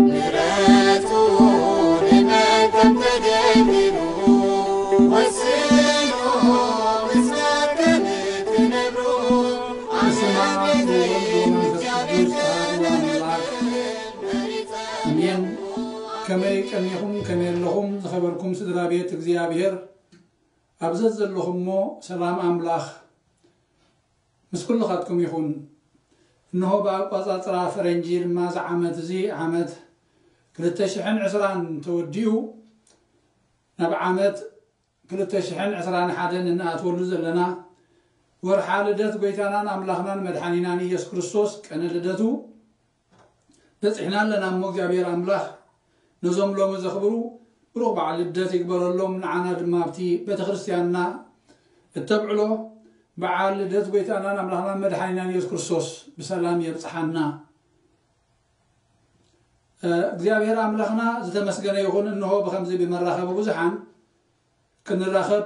ምሕረቱ ንመን ከም ተገቢሩ ወሲኑ ምስናን ከም እትነብሩ በስመ አብ ወወልድ ወመንፈስ ቅዱስ አሐዱ አምላክ። አሜን። ከመይ ቀኒኹም? ከመይ ኣለኹም? ዝኸበርኩም ስድራ ቤት እግዚኣብሔር፣ ኣብ ዘዘለኹሞ ሰላም ኣምላኽ ምስ ኩልኻትኩም ይኹን። እንሆ ብኣቋጻጽራ ፈረንጂ ድማ እዚ ዓመት እዚ ዓመት ክልተ ሽሕን ዕስራን ተወዲኡ ናብ ዓመት ክልተ ሽሕን ዕስራን ሓደን እንኣትወሉ ዘለና ወርሓ ልደት ጐይታናን ኣምላኽናን መድሓኒናን ኢየሱስ ክርስቶስ ቀነ ልደቱ በጺሕና ኣለና። እሞ እግዚኣብሔር ኣምላኽ ነዞም ሎሚ ዘኽብሩ ብሩኽ በዓል ልደት ይግበረሎም። ንዓና ድማ ኣብቲ ቤተ ክርስቲያንና እተብዕሎ በዓል ልደት ጐይታናን ኣምላኽናን መድሓኒናን ኢየሱስ ክርስቶስ ብሰላም የብጽሓና። እ፣ እግዚኣብሔር ኣምላኽና ዝተመስገነ ይኹን። እንሆ ብኸምዚ ብመራኸቢ ብዙሓን ክንራኸብ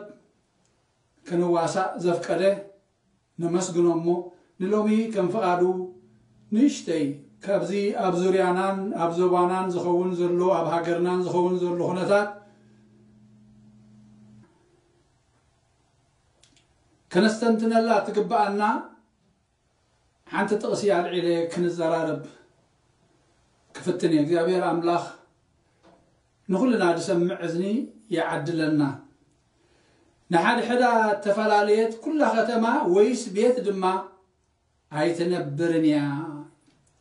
ክንዋሳእ ዘፍቀደ ነመስግኖ። እሞ ንሎሚ ከም ፍቓዱ ንእሽተይ ካብዚ ኣብ ዙርያናን ኣብ ዞባናን ዝኸውን ዘሎ፣ ኣብ ሃገርናን ዝኸውን ዘሎ ኩነታት ከነስተንትነላ ትግብኣና ሓንቲ ጥቕሲ ኣልዒለ ክንዘራረብ ክፍትን እየ። እግዚኣብሔር ኣምላኽ ንኹልና ዝሰምዕ እዝኒ ይዓድለና። ንሓድሕዳ እተፈላለየት ኩላ ከተማ ወይስ ቤት ድማ ኣይትነብርን እያ።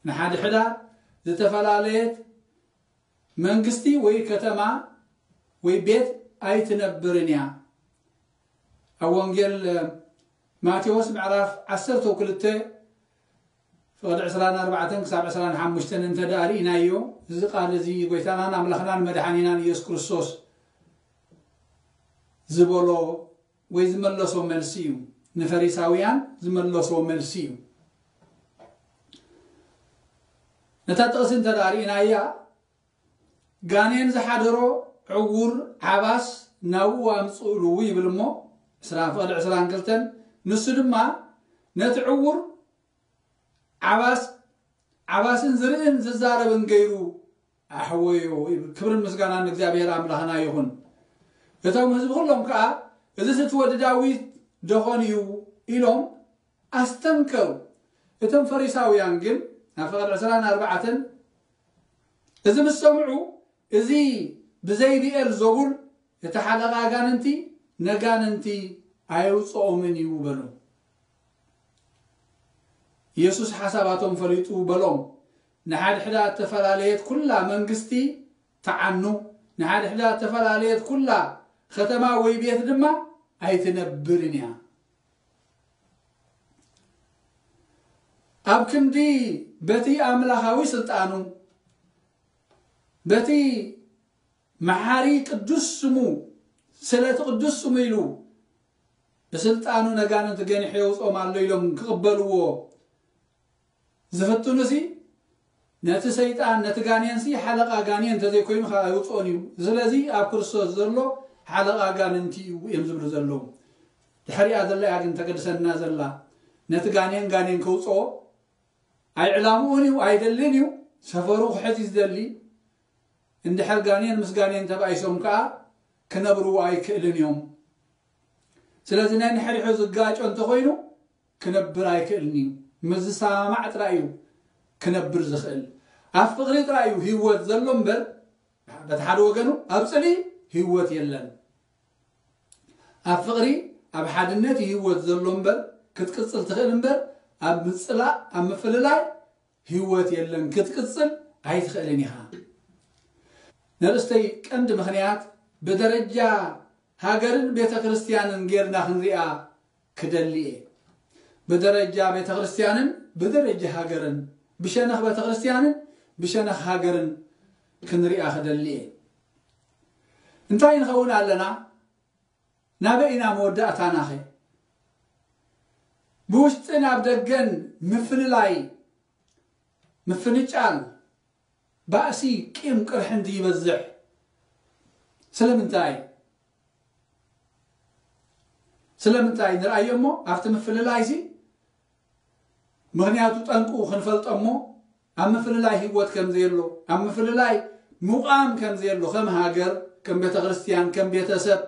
ንሓድሕዳ ዝተፈላለየት መንግስቲ ወይ ከተማ ወይ ቤት ኣይትነብርን እያ። ኣብ ወንጌል ማቴዎስ ምዕራፍ ዓሰርተ ክልተ ፍቕዲ ዕስራን ኣርባዕተን ክሳብ ዕስራን ሓሙሽተን እንተ ደኣ ርኢናዮ፣ እዚ ቃል እዚ ጐይታናን ኣምላኽናን መድሓኒናን ኢየሱስ ክርስቶስ ዝበሎ ወይ ዝመለሶ መልሲ እዩ። ንፈሪሳውያን ዝመለሶ መልሲ እዩ። ነታ ጥቕሲ እንተ ደኣ ርኢናያ፣ ጋኔን ዝሓደሮ ዕዉር ዓባስ ናብኡ ኣምጽእሉ ይብል እሞ፣ ዕስራ ፍቕዲ ዕስራን ክልተን፣ ንሱ ድማ ነቲ ዕዉር ዓባስ ዓባስን ዝርእን ዝዛረብን ገይሩ ኣሕወዮ ይብል። ክብርን ምስጋናን ንእግዚኣብሔር ኣምላኽና ይኹን። እቶም ህዝቢ ኩሎም ከኣ፣ "እዚስ እቲ ወዲ ዳዊት ደኾን እዩ?" ኢሎም ኣስተንከሩ። እቶም ፈሪሳውያን ግን፣ ኣብ ፍቕዲ ዕስራን ኣርባዕተን፣ እዚ ምስ ሰምዑ፣ "እዚ ብዘይ ብኤል ዘቡል፣ እቲ ሓለቓ ኣጋንንቲ፣ ነጋንንቲ ኣየውጽኦምን እዩ" በሉ። ኢየሱስ ሓሳባቶም ፈሊጡ በሎም፣ "ንሓድሕዳ እተፈላለየት ኩላ መንግስቲ ትዓኑ፣ ንሓድሕዳ እተፈላለየት ኩላ ኸተማ ወይ ቤት ድማ ኣይትነብርን እያ።" ኣብ ክንዲ በቲ ኣምላኻዊ ስልጣኑ፣ በቲ መሓሪ ቅዱስ ስሙ፣ ስለ እቲ ቅዱስ ስሙ ኢሉ ብስልጣኑ ነጋንንት ገኒሑ የውጽኦም ኣሎ ኢሎም ክቕበልዎ ዝፍትኑሲ፣ ነቲ ሰይጣን፣ ነቲ ጋኔንሲ ሓለቓ ጋኔን እንተዘይኮይኑ ካብ ኣይውጽኦን እዩ። ስለዚ ኣብ ክርስቶስ ዘሎ ሓለቓ ኣጋንንቲ እዩ እዮም ዝብሉ ዘለዉ። ድሕሪኣ ዘላ እያ ግን ተገድሰና ዘላ። ነቲ ጋኔን ጋኔን ከውጽኦ ኣይዕላምኡን እዩ፣ ኣይደልን እዩ። ሰፈሩ ክሕዝ እዩ ዝደሊ። እንድሕር ጋኔን ምስ ጋኔን ተባኢሶም ከኣ ክነብርዎ ኣይክእልን እዮም። ስለዚ ናይ ንሕሪሑ ዝጋጮ እንተኾይኑ ክነብር ኣይክእልን እዩ። ምስ ዝሰማማዕ ጥራይ እዩ ክነብር ዝኽእል። ኣብ ፍቕሪ ጥራይ እዩ ህይወት ዘሎ እምበር፣ በቲ ሓደ ወገኑ ኣብ ጽልኢ ህይወት የለን። ኣብ ፍቕሪ፣ ኣብ ሓድነት እዩ ህይወት ዘሎ እምበር፣ ክትቅጽል ትኽእል እምበር፣ ኣብ ምጽላእ፣ ኣብ ምፍልላይ ህይወት የለን፣ ክትቅጽል ኣይትኽእልን ኢኻ። ንርእስተይ ቀንዲ ምኽንያት ብደረጃ ሃገርን ቤተ ክርስቲያንን ጌርና ክንሪኣ ክደሊ እየ። ብደረጃ ቤተ ክርስቲያንን ብደረጃ ሃገርን፣ ብሸነኽ ቤተ ክርስቲያንን ብሸነኽ ሃገርን ክንሪኣ ክደሊ እየ። እንታይ ንኸውን ኣለና? ናበይ ኢና መወዳእታናኸ? ብውሽጥን ኣብ ደገን ምፍልላይ፣ ምፍንጫል፣ ባእሲ፣ ቂም፣ ቅርሒ እንዲ ይበዝሕ። ስለምንታይ? ስለምንታይ ንርኣዮ እሞ፣ ኣብቲ ምፍልላይሲ ምኽንያቱ ጠንቁ ክንፈልጦ እሞ ኣብ ምፍልላይ ህይወት ከም ዘየሎ፣ ኣብ ምፍልላይ ምቋም ከም ዘየሎ፣ ከም ሃገር፣ ከም ቤተ ክርስቲያን፣ ከም ቤተሰብ፣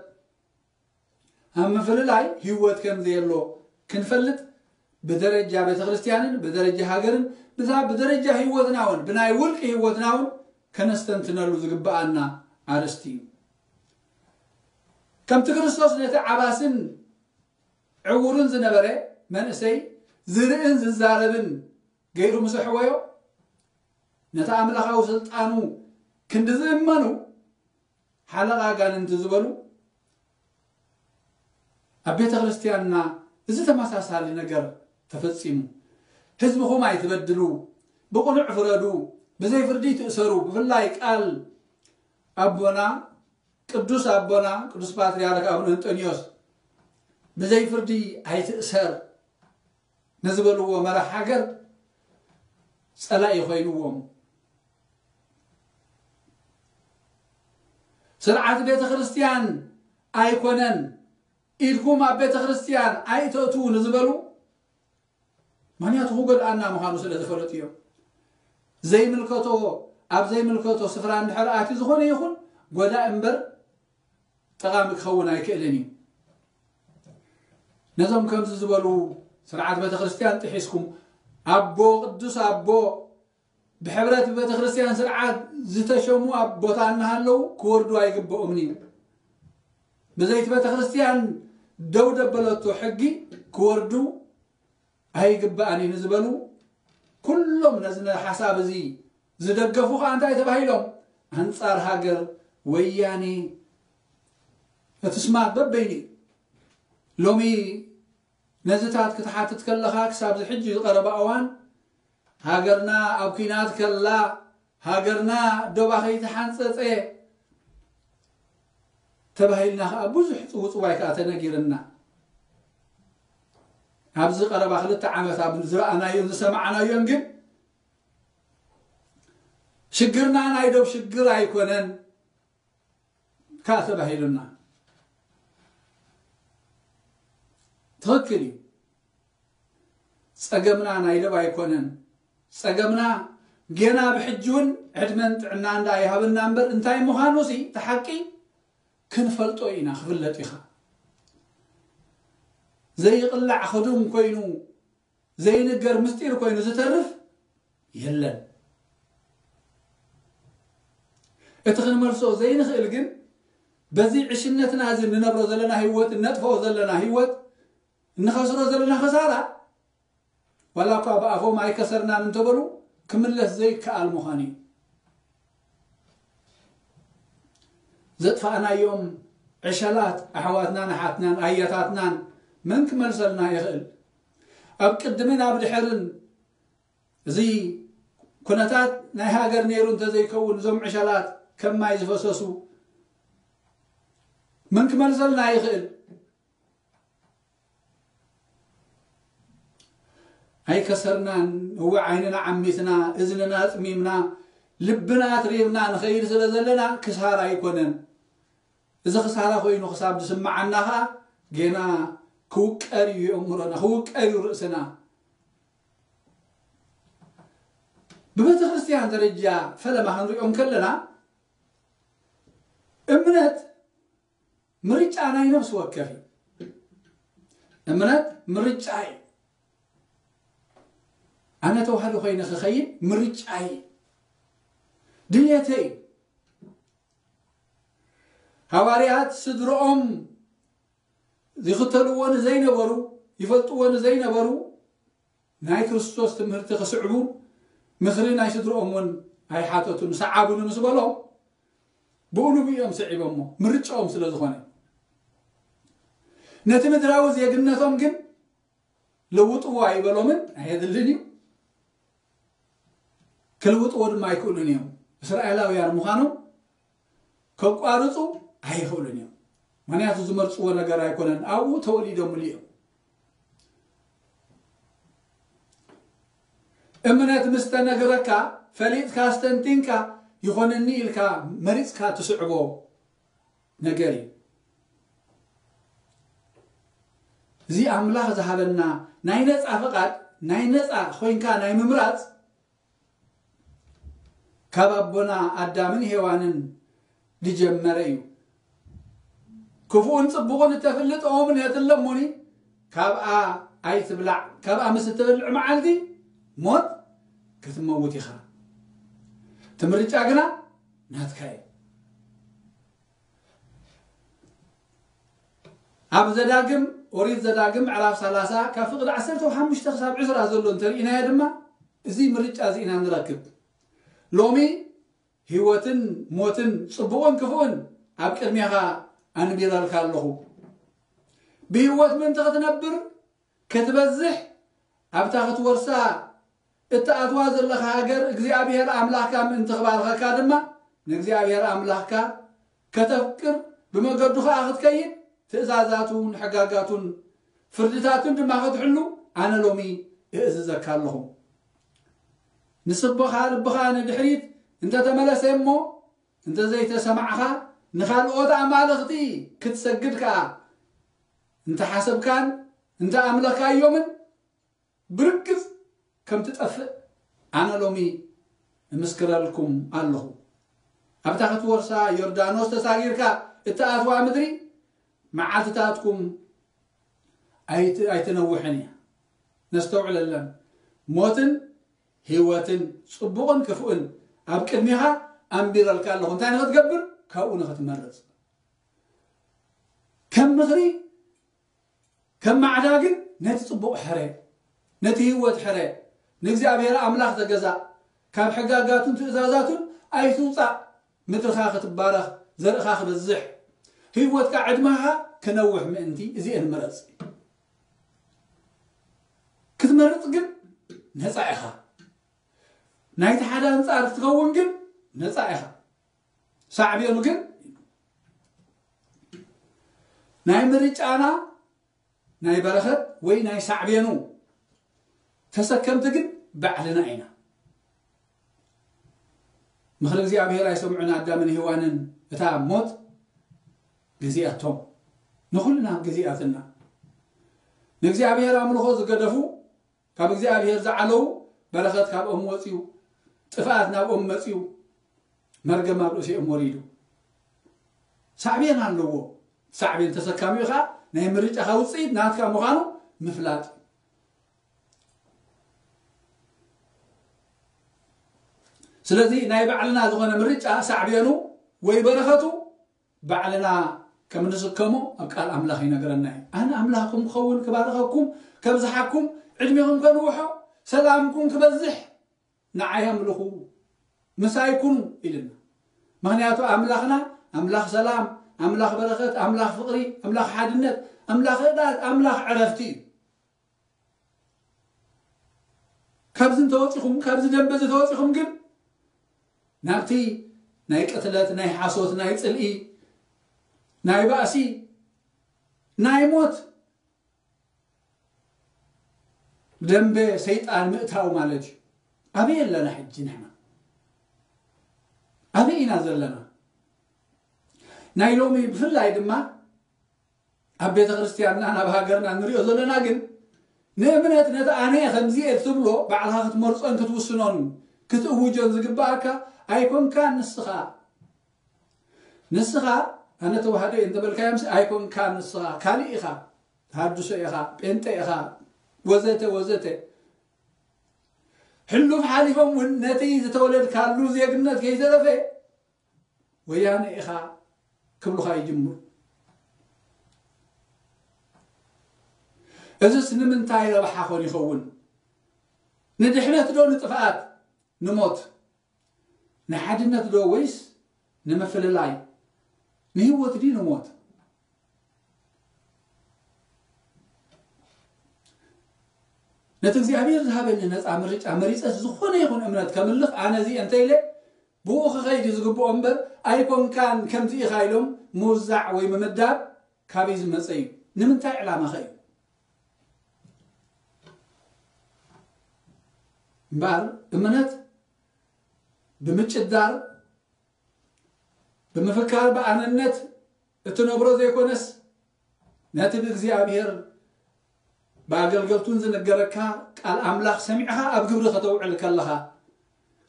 ኣብ ምፍልላይ ህይወት ከም ዘየሎ ክንፈልጥ ብደረጃ ቤተ ክርስቲያንን ብደረጃ ሃገርን ብዛ-፣ ብደረጃ ህይወትና እውን ብናይ ውልቂ ህይወትና እውን ከነስተንትነሉ ዝግብኣና ኣርእስቲ እዩ። ከምቲ ክርስቶስ ነቲ ዓባስን ዕውርን ዝነበረ መንእሰይ ዝርእን ዝዛረብን ገይሩ ምስ ኣሕወዮ፣ ነቲ ኣምላኻዊ ስልጣኑ ክንዲ ዝእመኑ ሓለቓ ኣጋንንቲ ዝበሉ ኣብ ቤተ ክርስቲያንና እዚ ተመሳሳሊ ነገር ተፈጺሙ። ህዝብኹም ኣይትበድሉ፣ ብቕኑዕ ፍረዱ፣ ብዘይ ፍርዲ ትእሰሩ። ብፍላይ ቃል ኣቦና ቅዱስ ኣቦና ቅዱስ ፓትርያርክ ኣቡነ እንጦንዮስ ብዘይ ፍርዲ ኣይትእሰር ንዝበልዎ መራሕ ሃገር ጸላኢ ኮይንዎም። ስርዓት ቤተ ክርስቲያን ኣይኮነን፣ ኢድኩም ኣብ ቤተ ክርስቲያን ኣይተእትዉ ንዝበሉ፣ ምኽንያቱ ክጎድኣና ምዃኑ ስለ ዝፈለጡ እዮም። ዘይምልከቶ፣ ኣብ ዘይምልከቶ ስፍራ እንድሕር ኣትዩ ዝኾነ ይኹን ጎዳኢ እምበር ጠቓሚ ክኸውን ኣይክእልን እዩ። ነዞም ከምዚ ዝበሉ ስርዓት ቤተ ክርስቲያን ጥሒስኩም፣ ኣቦ፣ ቅዱስ ኣቦ፣ ብሕብረት ቤተ ክርስቲያን ስርዓት ዝተሸሙ ኣቦታ እናሃለዉ ክወርዱ ኣይግብኦምን እዩ። ብዘይቲ ቤተ ክርስቲያን ደው ደበለቶ ሕጊ ክወርዱ ኣይግባእን እዩ ንዝበሉ፣ ኩሎም ነዚ ሓሳብ እዚ ዝደገፉ ኸዓ እንታይ ተባሂሎም? ኣንጻር ሃገር ወያኔ። እቲ ስማት በበይኑ እዩ። ሎሚ ነዚታት ክትሓትት ከለኻ፣ ክሳብ እዚ ሕጂ ዝቐረበ እዋን ሃገርና ኣብ ኲናት ከላ፣ ሃገርና ዶባ ከይተሓንጸጸ ተባሂልና ኸዓ ብዙሕ ጽውጽዋይ ከኣ ተነጊርና። ኣብዚ ቀረባ ክልተ ዓመት ኣብ ዝረኣናዮን ዝሰማዕናዮን ግን ሽግርና ናይ ዶብ ሽግር ኣይኮነን ከኣ ተባሂሉና። ትኽክል እዩ። ጸገምና ናይ ዶብ ኣይኮነን። ጸገምና ጌና ብሕጂ እውን ዕድመን ጥዕና እንዳ ይሃበና እምበር እንታይ ምዃኑ ሲ እቲ ሓቂ ክንፈልጦ ኢና፣ ክፍለጥ ኢኻ። ዘይቕላዕ ክዱን ኮይኑ፣ ዘይንገር ምስጢር ኮይኑ ዝተርፍ የለን። እቲ ክንመልሶ ዘይንኽእል ግን በዚ ዕሽነትና እዚ እንነብሮ ዘለና ህይወት፣ እነጥፍኦ ዘለና ህይወት፣ እንኸስሮ ዘለና ኸሳራ፣ ዋላ እኳ ብኣፎም ኣይከሰርናን እንተበሉ፣ ክምለስ ዘይከኣል ምዃኑ እዩ። ዘጥፋእናዮም ዕሸላት ኣሕዋትናን ኣሓትናን ኣያታትናን መን ክመልሰልና ይኽእል? ኣብ ቅድምን ኣብ ድሕርን እዚ ኩነታት ናይ ሃገር ነይሩ እንተዘይከውን፣ እዞም ዕሸላት ከም ማይ ዝፈሰሱ መን ክመልሰልና ይኽእል? ኣይከሰርናን። እወ፣ ዓይንና ዓሚትና፣ እዝንና ኣጽሚምና፣ ልብና ኣትሪርና ንኸይድ ስለ ዘለና ክሳራ ኣይኮነን። እዚ ክሳራ ኮይኑ ክሳብ ዝስምዓና ኸኣ ጌና ክውቀር እዩ ኣእምሮና፣ ክውቀር እዩ ርእስና። ብቤተ ክርስቲያን ደረጃ ፈለማ ክንሪኦ እንከለና፣ እምነት ምርጫ ናይ ነፍሲ ወከፍ እዩ። እምነት ምርጫ እዩ። ኣነ ተዋህዶ ኮይነ ክኸይድ ምርጫ እዩ፣ ድልየተይ እዩ። ሃዋርያት ስድርኦም ይኽተልዎ ንዘይነበሩ፣ ይፈልጥዎ ንዘይነበሩ፣ ናይ ክርስቶስ ትምህርቲ ክስዕቡ ምኽሪ ናይ ስድርኦም እውን ኣይሓተቱን። ሰዓቡኒ ምስ በሎም፣ ብኡ ንብኡ እዮም ስዒቦሞ፣ ምርጫኦም ስለ ዝኾነ። ነቲ ምድራዊ ዜግነቶም ግን ለውጥዎ ኣይበሎምን፣ ኣየድልን እዩ። ክልውጥዎ ድማ ኣይክእሉን እዮም። እስራኤላውያን ምዃኖም ከቋርጹ ኣይኽእሉን እዮም። ምኽንያቱ ዝመርጽዎ ነገር ኣይኮነን፣ ኣብኡ ተወሊዶምሉ እዮም። እምነት ምስ ተነገረካ፣ ፈሊጥካ፣ ኣስተንቲንካ፣ ይኾነኒ ኢልካ መሪጽካ ትስዕቦ ነገር እዩ። እዚ ኣምላኽ ዝሃበና ናይ ነጻ ፍቓድ ናይ ነፃ ኮይንካ ናይ ምምራፅ ካብ ኣቦና ኣዳምን ሄዋንን ዝጀመረ እዩ። ክፉእን ጽቡቕን እተፍልጥ ኦም ነትለሞኒ፣ ካብኣ ኣይትብላዕ፣ ካብኣ ምስ እትበልዕ መዓልቲ ሞት ክትመውት ኢኻ። እቲ ምርጫ ግና ናትካ እዩ። ኣብ ዘዳግም፣ ኦሪት ዘዳግም ምዕራፍ ሰላሳ ካብ ፍቕዲ ዓሰርተ ሓሙሽተ ክሳብ ዕስራ ዘሎ እንተርኢናዮ ድማ፣ እዚ ምርጫ እዚ ኢና ንረክብ። ሎሚ ህይወትን ሞትን ጽቡቕን ክፉእን ኣብ ቅድሜኻ ኣንቢረልካ ኣለኹ። ብህይወት ምእንቲ ክትነብር፣ ክትበዝሕ፣ ኣብታ ክትወርሳ እትኣትዋ ዘለኻ ሃገር እግዚኣብሔር ኣምላኽካ ምእንቲ ክባርኸካ ድማ፣ ንእግዚኣብሔር ኣምላኽካ ከተፍቅር፣ ብመገዱ ኸኣ ክትከይድ፣ ትእዛዛቱን ሕጋጋቱን ፍርድታቱን ድማ ክትሕሉ፣ ኣነ ሎሚ እእዝዘካ ኣለኹ። ንስብኻ ልብኻ ንድሕሪት እንተ ተመለሰ እሞ፣ እንተ ዘይተሰማዕኻ፣ ንኻልኦት ኣማልኽቲ ክትሰግድ ከኣ እንተ ሓሰብካን እንተ ኣምለኻዮምን፣ ብርግጽ ከም ትጠፍእ ኣነ ሎሚ እምስክረልኩም ኣለኹ። ኣብታ ክትወርሳ ዮርዳኖስ ተሳጊርካ እትኣትዋ ምድሪ፣ መዓልትታትኩም ኣይት-፣ ኣይትነውሕን እያ። ነስተውዕለለን። ሞትን ህይወትን፣ ጽቡቕን ክፉእን ኣብ ቅድሜኻ ኣንቢረልካ ኣለኹ። እንታይ ንኽትገብር? ካብኡ ንኽትመርጽ። ከም ምኽሪ፣ ከም ማዕዳ ግን ነቲ ጽቡቕ ሕረ፣ ነቲ ህይወት ሕረ፣ ንእግዚኣብሔር ኣምላኽ ተገዛእ፣ ካብ ሕጋጋቱን ትእዛዛቱን ኣይትውጻእ። ምድርኻ ክትባረኽ፣ ዘርእኻ ክበዝሕ፣ ህይወትካ ዕድመኻ ክነውሕ ምእንቲ እዚኤን ምረጽ። ክትመርጽ ግን ነጻ ኢኻ። ናይቲ ሓደ ኣንጻር ክትኸውን ግን ነጻ ኢኻ። ሳዕቤኑ ግን ናይ ምርጫና ናይ በረኸት ወይ ናይ ሳዕቤኑ ተሰከምቲ ግን ባዕልና ኢና። ምኽሪ እግዚኣብሔር ኣይሰምዑን ኣዳምን ሄዋንን እታ ሞት ገዚኣቶም። ንኹልና ገዚኣትና። ንእግዚኣብሔር ኣምልኾ ዝገደፉ፣ ካብ እግዚኣብሔር ዝዓለዉ፣ በረኸት ካብኦም ወጺኡ፣ ጥፍኣት ናብኦም መጺኡ፣ መርገም ኣብ ርእሲኦም ወሪዱ። ሳዕቤን ኣለዎ። ሳዕቤን ተሰካሚኡ ኸኣ ናይ ምርጫኻ ውጽኢት ናትካ ምዃኑ ምፍላጥ። ስለዚ ናይ ባዕልና ዝኾነ ምርጫ ሳዕቤኑ ወይ በረኸቱ ባዕልና ከም ንስከሞ ኣብ ቃል ኣምላኽ ይነግረና እዩ። ኣነ ኣምላኽኩም ክኸውን፣ ክባርኸኩም፣ ከብዝሓኩም፣ ዕድሜኹም ከንውሖ፣ ሰላምኩም ክበዝሕ፣ ንዓይ ኣምልኹ፣ ምሳይ ኩኑ ኢልና። ምኽንያቱ ኣምላኽና ኣምላኽ ሰላም፣ ኣምላኽ በረኸት፣ ኣምላኽ ፍቕሪ፣ ኣምላኽ ሓድነት፣ ኣምላኽ ህድኣት፣ ኣምላኽ ዕረፍቲ እዩ። ካብዚ እንተወጺኹም፣ ካብዚ ደንበ እዚ ተወጺኹም ግን ናብቲ ናይ ቅትለት፣ ናይ ሓሶት፣ ናይ ጽልኢ፣ ናይ ባእሲ፣ ናይ ሞት ደንበ ሰይጣን ምእታው ማለት እዩ። ኣበይ ኣለና ሕጂ ንሕና? ኣበይ ኢና ዘለና? ናይ ሎሚ ብፍላይ ድማ ኣብ ቤተ ክርስቲያንናን ኣብ ሃገርና ንሪኦ ዘለና ግን ንእምነት ነቲ ኣነ እየ ከምዚ እየ ትብሎ ባዕልኻ ክትመርጾን ክትውስኖን ክትእውጆን ዝግብኣካ ኣይኮንካን ንስኻ። ንስኻ ኣነ ተዋህዶ እየ እንተበልካዮምሲ ኣይኮንካን ንስኻ። ካልእ ኢኻ። ተሃድሶ ኢኻ፣ ጴንጠ ኢኻ፣ ወዘተ ወዘተ። ሕሉፍ ሓሊፎም እውን ነቲ ዝተወለድካሉ ዜግነት ከይተረፈ ወያነ ኢኻ ክብሉኻ ይጅምሩ። እዝስ ንምንታይ ረብሓ ኾን ይኸውን? ንድሕነት ዶ ንጥፍኣት? ንሞት? ንሓድነት ዶ ወይስ ንምፍልላይ? ንህይወት ድዩ ንሞት? ነቲ እግዚኣብሔር ዝሃበኒ ነፃ ምርጫ መሪፀስ ዝኾነ ይኹን እምነት ከምልኽ ኣነ እዚ እንተ ኢለ ብኡ ክኸይድ እዩ ዝግብኦ እምበር ኣይኮንካን ከምዚ ኢኻ ኢሎም ምውዛዕ ወይ ምምዳብ ካበይ ዝመፀ እዩ? ንምንታይ ዕላማኸ እዩ? እምበኣር እምነት ብምጭዳር ብምፍካር ብኣነነት እትነብሮ ዘይኮነስ ነቲ ብእግዚኣብሔር ብኣገልገልቱን ዝነገረካ ቃል ኣምላኽ ሰሚዕኻ ኣብ ግብሪ ከተውዕል ከለኻ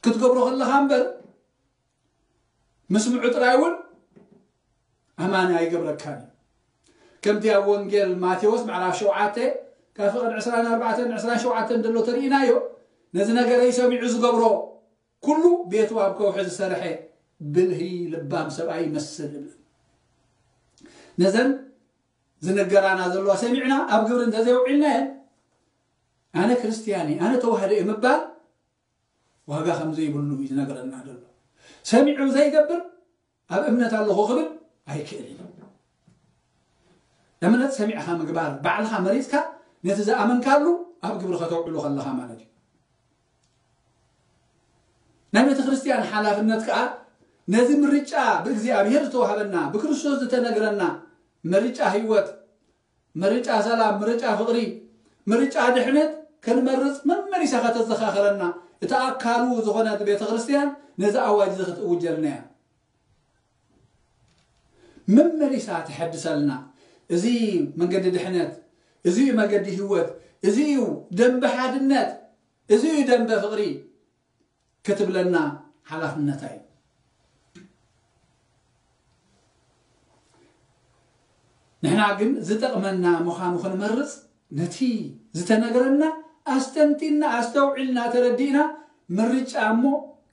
ክትገብሮ ከለኻ እምበር ምስምዑ ጥራይ እውን ኣማኒ ኣይገብረካን እዩ። ከምቲ ኣብ ወንጌል ማቴዎስ ምዕራፍ ሸውዓተ ካብ ፍቕድ ዕስራን ኣርባዕተን ዕስራን ሸውዓተን ዘሎ ተርእናዮ፣ ነዚ ነገረይ ሰሚዑ ዝገብሮ ኩሉ ቤቱ ኣብ ከውሒ ዝሰርሐ ብልሂ ልባም ሰብኣይ ይመስል ይብል። ነዘን ዝነገራና ዘለዋ ሰሚዕና ኣብ ግብሪ እንተዘይውዒልናየን ኣነ ክርስትያን እየ፣ ኣነ ተዋህዶ እየ ምባል ዋጋ ከም ዘይብሉ እዩ ዝነገረና ዘሎ። ሰሚዑ ዘይገብር ኣብ እምነት ኣለኹ ክብል ኣይክእል እዩ። እምነት ሰሚዕኻ ምግባር፣ ባዕልኻ መሪፅካ ነቲ ዝኣመንካሉ ኣብ ግብሪ ከተውዕሉ ከለኻ ማለት እዩ። ናይ ቤተ ክርስቲያን ሓላፍነት ከዓ ነዚ ምርጫ ብእግዚኣብሔር ዝተዋህበና ብክርስቶስ ዝተነግረና ምርጫ ህይወት፣ ምርጫ ሰላም፣ ምርጫ ፍቕሪ፣ ምርጫ ድሕነት ክንመርፅ መመሊሳ ከተዘኻኸረና እታ ኣካሉ ዝኾነት ቤተ ክርስቲያን ነዚ ኣዋጅ እዚ ክትእውጀልና እያ። መመሊሳ ትሐድሰልና። እዚ መንገዲ ድሕነት፣ እዚ እዩ መገዲ ህይወት፣ እዚ እዩ ደንበ ሓድነት፣ እዚ እዩ ደንበ ፍቕሪ ክትብለና ሓላፍነታ እዩ። ንሕና ግን ዝጠቕመና ምዃኑ ክንመርጽ ነቲ ዝተነገረና ኣስተንቲና ኣስተውዒልና ተረዲእና ምርጫ እሞ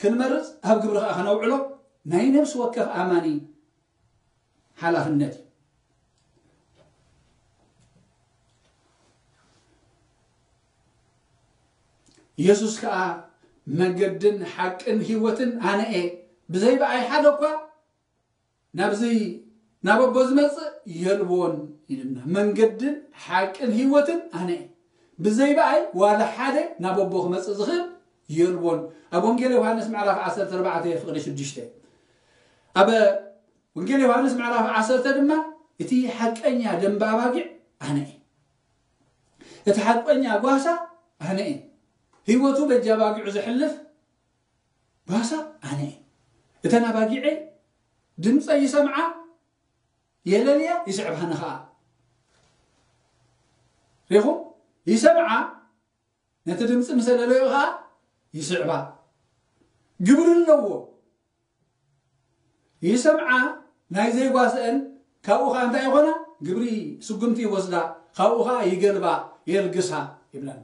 ክንመርጽ ኣብ ግብሪ ከኣ ከነውዕሎ ናይ ነፍሲ ወከፍ ኣማኒ ሓላፍነት እዩ። ኢየሱስ ከኣ መንገድን ሓቅን ህይወትን ኣነ እየ፣ ብዘይ ብኣይ ሓደ እኳ ናብዚ ናብ ኣቦ ዝመጽእ የልቦን ኢልና። መንገድን ሓቅን ህይወትን ኣነ እየ፣ ብዘይ ብኣይ ዋላ ሓደ ናብ ኣቦ ክመጽእ ዝኽእል የልቦን። ኣብ ወንጌል ዮሃንስ ምዕራፍ ዓሰርተ ኣርባዕተ ፍቕዲ ሽዱሽተ። ኣብ ወንጌል ዮሃንስ ምዕራፍ ዓሰርተ ድማ እቲ ሓቀኛ ደንበ ኣባጊዕ ኣነ እየ። እቲ ሓቀኛ ጓሳ ኣነ እየ። ህይወቱ በጃ ኣባጊዑ ዘሕልፍ ጓሳ ኣነ እየ። እተን ኣባጊዐይ ድምፀይ ይሰምዓ፣ የለልያ፣ ይስዕባኒ ኸዓ። ሪኹም? ይሰምዓ፣ ነቲ ድምፂ ምስ ኣለለዮ ኸዓ ይስዕባ። ግብሪ ኣለዎ። ይሰምዓ፣ ናይ ዘይጓስአን ካብኡ ኸዓ እንታይ ይኾና? ግብሪ ስጉምቲ ይወስዳ፣ ካብኡ ኸዓ ይገልባ፣ የልግሳ ይብለና።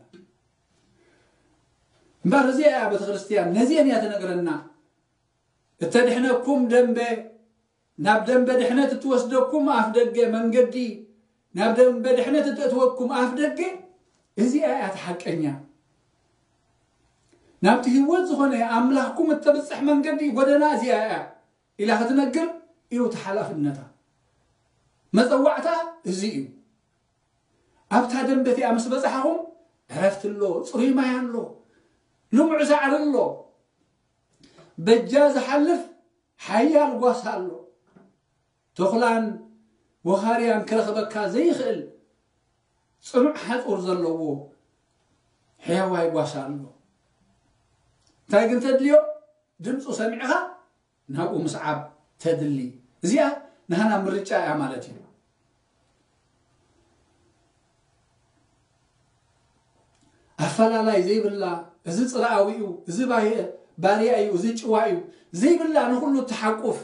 እምበር እዚኣ እያ ቤተ ክርስቲያን፣ ነዚአን እያ ትነግረና። እተድሕነኩም ደንበ፣ ናብ ደንበ ድሕነት እትወስደኩም ኣፍ ደገ መንገዲ፣ ናብ ደንበ ድሕነት እተእትወኩም ኣፍ ደገ፣ እዚኣ እያ እቲ ሓቀኛ። ናብቲ ህይወት ዝኾነ ኣምላኽኩም እተብጽሕ መንገዲ፣ ጎደና እዚኣ እያ ኢላ ክትነግር እዩ እቲ ሓላፍነታ። መጸዋዕታ እዚ እዩ። ኣብታ ደንበ እቲኣ ምስ በጻሕኹም ዕረፍቲ ኣሎ፣ ጽሩይ ማይ ኣሎ፣ ልሙዕ ሳዕሪ ኣሎ። በጃ ዝሓልፍ ሓያል ጓሳ ኣሎ። ተኹላን ወኻርያን ክረኽበካ ዘይኽእል ጽኑዕ ሓጹር ዘለዎ ሕያዋይ ጓሳ ኣሎ። እንታይ ግን ተድልዮ? ድምፁ ሰሚዕኻ ናብኡ ምስዓብ ተድሊ። እዚኣ ናህና ምርጫ እያ ማለት እዩ። ኣፈላላይ ዘይብላ፣ እዚ ጽርኣዊ እዩ፣ እዚ ባየ-፣ ባርያ እዩ፣ እዚ ጭዋ እዩ ዘይብላ፣ ንኹሉ እትሓቁፍ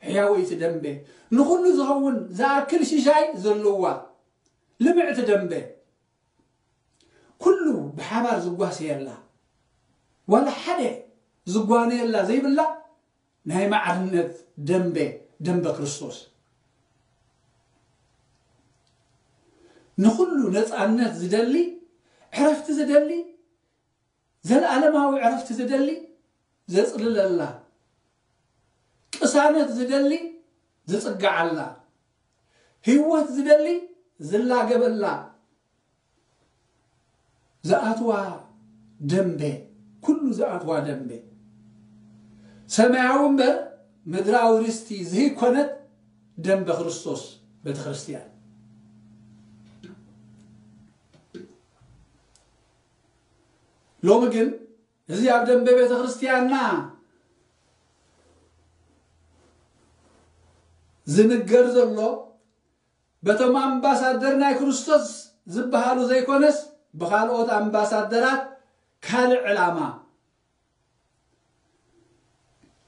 ሕያወይቲ ደንበ፣ ንኹሉ ዝኸውን ዝኣክል ሽሻይ ዘለዋ ልምዕቲ ደንበ፣ ኩሉ ብሓባር ዝጓሰየላ፣ ዋላ ሓደ ዝጓነየላ ዘይብላ ናይ ማዕርነት ደንበ፣ ደንበ ክርስቶስ። ንኹሉ ነፃነት ዝደሊ፣ ዕረፍቲ ዝደሊ፣ ዘለዓለማዊ ዕረፍቲ ዝደሊ ዘጽልለላ፣ ቅሳነት ዝደሊ ዝጽግዓላ፣ ህይወት ዝደሊ ዝላገበላ፣ ዝኣትዋ ደንበ፣ ኩሉ ዝኣትዋ ደንበ፣ ሰማያዊ እምበር ምድራዊ ርስቲ ዘይኮነት ደንበ ክርስቶስ ቤተ ክርስቲያን። ሎሚ ግን እዚ ኣብ ደንበ ቤተ ክርስቲያንና ዝንገር ዘሎ በቶም ኣምባሳደር ናይ ክርስቶስ ዝበሃሉ ዘይኮነስ፣ ብኻልኦት ኣምባሳደራት ካልእ ዕላማ፣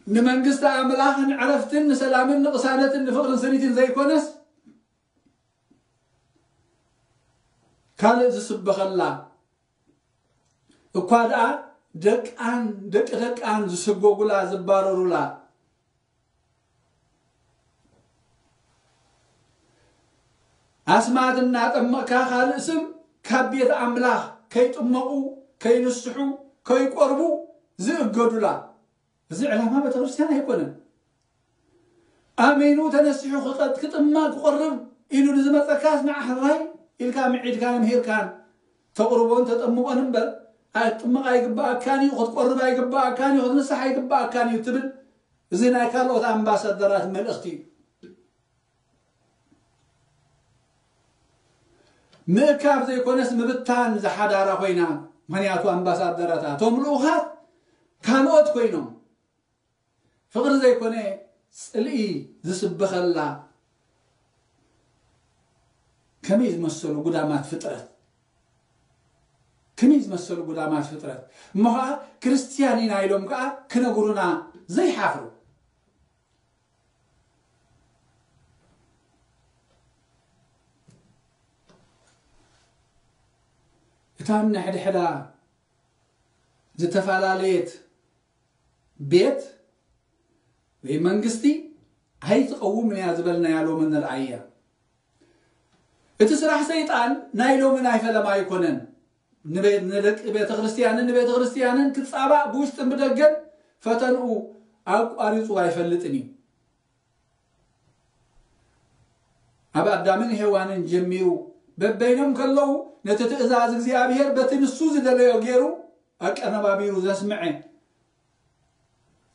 ንመንግስቲ ኣምላኽ ንዕረፍትን ንሰላምን ንቕሳነትን ንፍቕርን ስኒትን ዘይኮነስ፣ ካልእ ዝስበኸላ፣ እኳ ደኣ ደቃን ደቂ ደቃን ዝስጎጉላ ዝባረሩላ፣ ኣስማት እናጠመቕካ ካልእ ስም ካብ ቤት ኣምላኽ ከይጥመቑ፣ ከይንስሑ፣ ከይቆርቡ ዝእገዱላ። እዚ ዕላማ ቤተ ክርስቲያን ኣይኮነን። ኣሜኑ ተነሲሑ ክቐ-፣ ክጥመቕ ክቆርብ ኢሉ ንዝመፀካስ ንዓ ሕራይ ኢልካ ምዒድካን ምሂርካን ተቕርቦን ተጠምቖን እምበር፣ ክትጥመቕ ኣይግባኣካን እዩ፣ ክትቆርብ ኣይግባኣካን እዩ፣ ክትንስሕ ኣይግባኣካን እዩ ትብል። እዚ ናይ ካልኦት ኣምባሳደራት መልእኽቲ እዩ። ምእካብ ዘይኮነስ ምብታን ዝሓዳራ ኮይና። ምኽንያቱ ኣምባሳደራታ እቶም ልኡኻት ካልኦት ኮይኖም፣ ፍቕሪ ዘይኮነ ጽልኢ ዝስበኸላ ከመይ ዝመሰሉ ጉዳማት ፍጥረት፣ ከመይ ዝመሰሉ ጉዳማት ፍጥረት እሞ ኸዓ ክርስትያን ኢና ኢሎም ከኣ ክነግሩና ዘይሓፍሩ። እታ ነሕድሕዳ ዝተፈላለየት ቤት ወይ መንግስቲ ኣይትቐውምን እያ ዝበልናያ ሎሚ ንርኣያ። እቲ ስራሕ ሰይጣን ናይ ሎሚ ናይ ፈለማ ኣይኮነን። ንቤት፣ ንደቂ ቤተ ክርስቲያንን ንቤተ ክርስቲያንን ክጻባእ ብውሽጥን ብደገን ፈተንኡ ኣቋሪጹ ኣይፈልጥን እዩ። ኣብ ኣዳምን ሄዋንን ጀሚሩ በበይኖም ከለዉ ነቲ ትእዛዝ እግዚኣብሔር በቲ ንሱ ዝደለዮ ገይሩ ኣቀነባቢሩ ዘስምዐ፣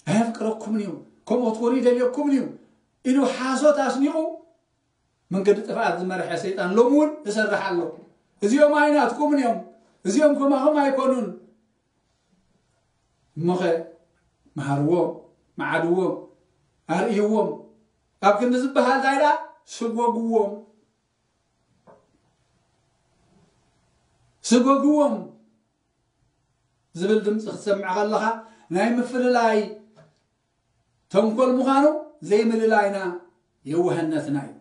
ኣየፍቅረኩምን እዩ፣ ከምኡ ክትኮኑ ይደልየኩምን እዩ ኢሉ ሓሶት ኣስኒቑ መንገዲ ጥፍኣት ዝመርሐ ሰይጣን ሎሚ እውን ይሰርሕ ኣሎ። እዚኦም ኣይናትኩምን እዮም፣ እዚኦም ከማኹም ኣይኮኑን። እሞኸ መሃርዎም፣ መዓድዎም፣ ኣርእይዎም። ኣብ ክንዲ ዝበሃል እንታይ ደኣ ስጎግዎም፣ ስጎግዎም ዝብል ድምፂ ክትሰምዕ ከለኻ ናይ ምፍልላይ ተንኮል ምዃኑ ዘይምልላይና የዋህነትና እዩ።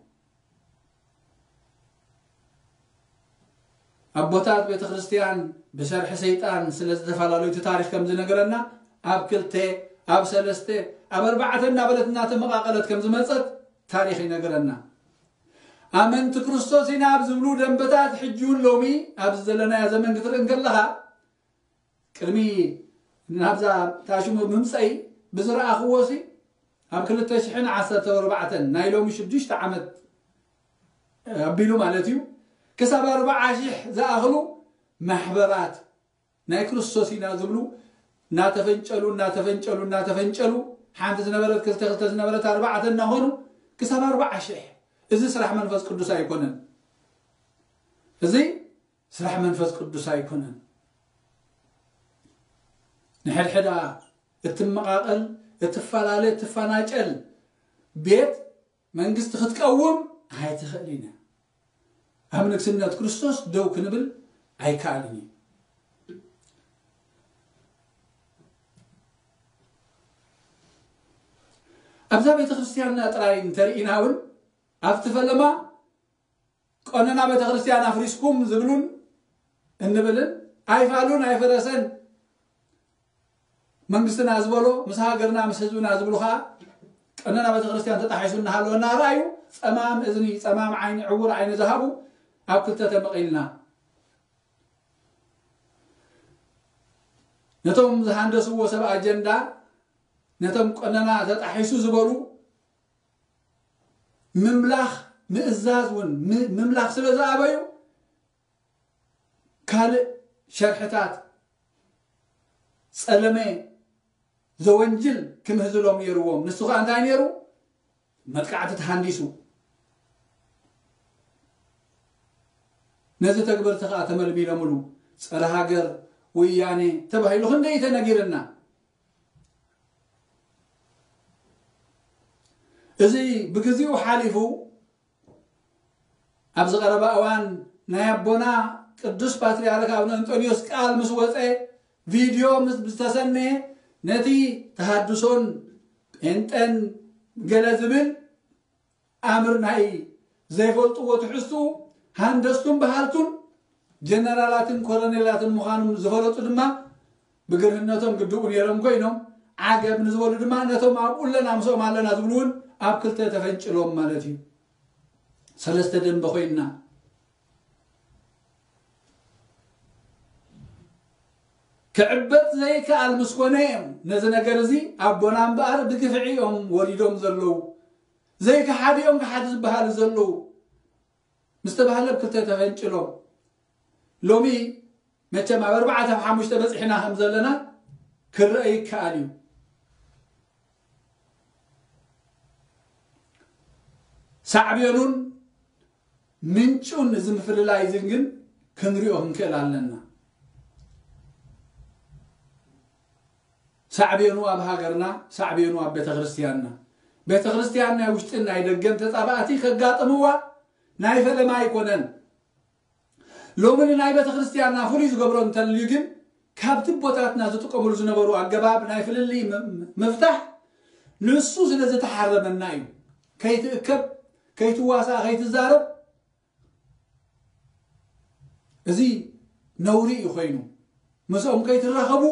ኣቦታት ቤተ ክርስቲያን ብሰርሒ ሰይጣን ስለ ዝተፈላለዩ እቲ ታሪኽ ከም ዝነገረና ኣብ ክልተ፣ ኣብ ሰለስተ፣ ኣብ ኣርባዕተ እናበለት እናተመቓቐለት ከም ዝመፀት ታሪኽ ይነገረና። ኣመንቲ ክርስቶስ ኢና ኣብ ዝብሉ ደንበታት ሕጂ እውን ሎሚ ኣብዚ ዘለናዮ ዘመን ክትርኢ እንከለኻ ቅድሚ ናብዛ ታሽሙ ምምፀይ ብዝረኣኽዎ ሲ ኣብ ክልተ ሽሕን ዓሰርተ ኣርባዕተን ናይ ሎሚ ሽዱሽተ ዓመት ኣቢሉ ማለት እዩ ክሳብ ኣርባዓ ሽሕ ዝኣኽሉ ማሕበራት ናይ ክርስቶስ ኢና ዝብሉ እናተፈንጨሉ እናተፈንጨሉ እናተፈንጨሉ ሓንቲ ዝነበረት ክልተ ክልተ ዝነበረት ኣርባዕተ እናኾኑ ክሳብ ኣርባዓ ሽሕ። እዚ ስራሕ መንፈስ ቅዱስ ኣይኮነን። እዚ ስራሕ መንፈስ ቅዱስ ኣይኮነን። ንሕድሕዳ እትመቓቐል እትፈላለ እትፈናጨል ቤት መንግስቲ ክትቀውም ኣይትኽእልን እያ። ኣብ ንግስነት ክርስቶስ ደው ክንብል ኣይከኣልን እዩ። ኣብዛ ቤተ ክርስቲያንና ጥራይ እንተርኢና እውን ኣብቲ ፈለማ ቀኖና ቤተ ክርስቲያን ኣፍሪስኩም ዝብሉን እንብልን ኣይፋሉን ኣይፈረሰን መንግስትና ዝበሎ ምስ ሃገርና ምስ ህዝብና ዝብሉ ከዓ ቀኖና ቤተ ክርስቲያን ተጣሒሱ እናሃለወ እናረኣዩ ጸማም እዝኒ ጸማም ዓይኒ ዕውር ዓይኒ ዝሃቡ ኣብ ክልተ ተመቒልና ነቶም ዝሃንደስዎ ሰብ ኣጀንዳ ነቶም ቀኖና ተጣሒሱ ዝበሉ ምምላኽ ምእዛዝ እውን ምምላኽ ስለ ዝኣበዩ ካልእ ሸርሕታት ጸለመ ዘወንጅል ክምህዝሎም ነይርዎም። ንሱ ከዓ እንታይ ነይሩ? መጥቃዕቲ ተሃንዲሱ ነዚ ተግበርቲ ከዓ ተመልሚሎምሉ። ጸረ ሃገር ወያኔ ተባሂሉ ክንደይ ተነጊርና። እዚ ብግዚኡ ሓሊፉ ኣብዚ ቀረባ እዋን ናይ ኣቦና ቅዱስ ፓትርያርክ ኣቡነ እንጦንዮስ ቃል ምስ ወፀ፣ ቪድዮ ምስ ዝተሰነየ፣ ነቲ ተሃድሶን ጴንጠን ገለ ዝብል ኣምር ናይ ዘይፈልጥዎ ትሕዝትኡ፣ ሃንደስቱን በሃልቱን ጀነራላትን ኮሎኔላትን ምዃኖም ዝፈለጡ ድማ፣ ብግርህነቶም ግድኡ ነይሮም ኮይኖም፣ ዓገብ ንዝበሉ ድማ ነቶም ኣብኡ ኣለና ምስኦም ኣለና ዝብሉ እውን ኣብ ክልተ ተፈንጭሎም ማለት እዩ። ሰለስተ ደንበ ኮይንና። ክዕበጥ ዘይከኣል ምስ ኮነ እዮም ነዚ ነገር እዚ ኣቦና እምበኣር ብግፍዒ እዮም ወሪዶም ዘለዉ፣ ዘይከሓድ እዮም ከሓድ ዝበሃሉ ዘለዉ ምስ ተባህለ ኣብ ክልተ ተፈንጭሎም። ሎሚ መቸም ኣብ ኣርባዕተ ኣብ ሓሙሽተ በፂሕና ከም ዘለና ክረአ ይከኣል እዩ። ሳዕቤኑን ምንጩን እዚ ምፍልላይ እዚ ግን ክንሪኦ ክንክእል ኣለና። ሳዕቤኑ ኣብ ሃገርና፣ ሳዕቤኑ ኣብ ቤተክርስትያንና። ቤተክርስትያን ናይ ውሽጥን ናይ ደገን ተጻባእቲ ከጋጥምዋ ናይ ፈለማ ኣይኮነን። ሎሚ ንናይ ቤተክርስትያንና ፍሉይ ዝገብሮ እንተልዩ ግን፣ ካብቲ ኣቦታትና ዝጥቀምሉ ዝነበሩ ኣገባብ ናይ ፍልልይ ም-፣ ምፍታሕ ንሱ ስለ ዝተሓረመና እዩ። ከይትእከብ፣ ከይትዋሳእ፣ ከይትዛረብ፣ እዚ ነውሪ እዩ ኮይኑ። ምስኦም ከይትራኸቡ፣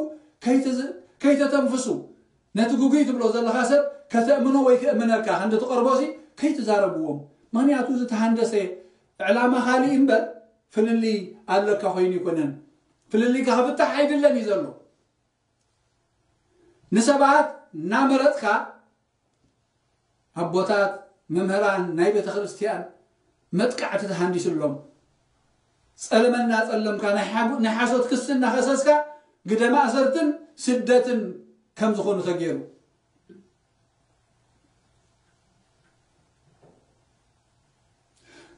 ከይትዝ-፣ ከይተተንፍሱ። ነቲ ግጉይ ትብሎ ዘለኻ ሰብ ከተእምኖ ወይ ከእምነካ ክንዲ ትቐርቦሲ ከይትዛረብዎም። ምኽንያቱ ዝተሃንደሰ ዕላማ ካልእ እምበር ፍልልይ ኣለካ ኮይኑ ኣይኮነን። ፍልልይካ ክፍታሕ ኣይድለን እዩ ዘሎ። ንሰባት እናመረጽካ ኣቦታት፣ መምህራን፣ ናይ ቤተ ክርስቲያን መጥቃዕቲ ተሃንዲስሎም። ጸለመ እናጸለምካ ናይ ሓጉ-፣ ናይ ሓሶት ክሲ እናኸሰስካ ግደ ማእሰርትን ስደትን ከም ዝኾኑ ተገይሩ።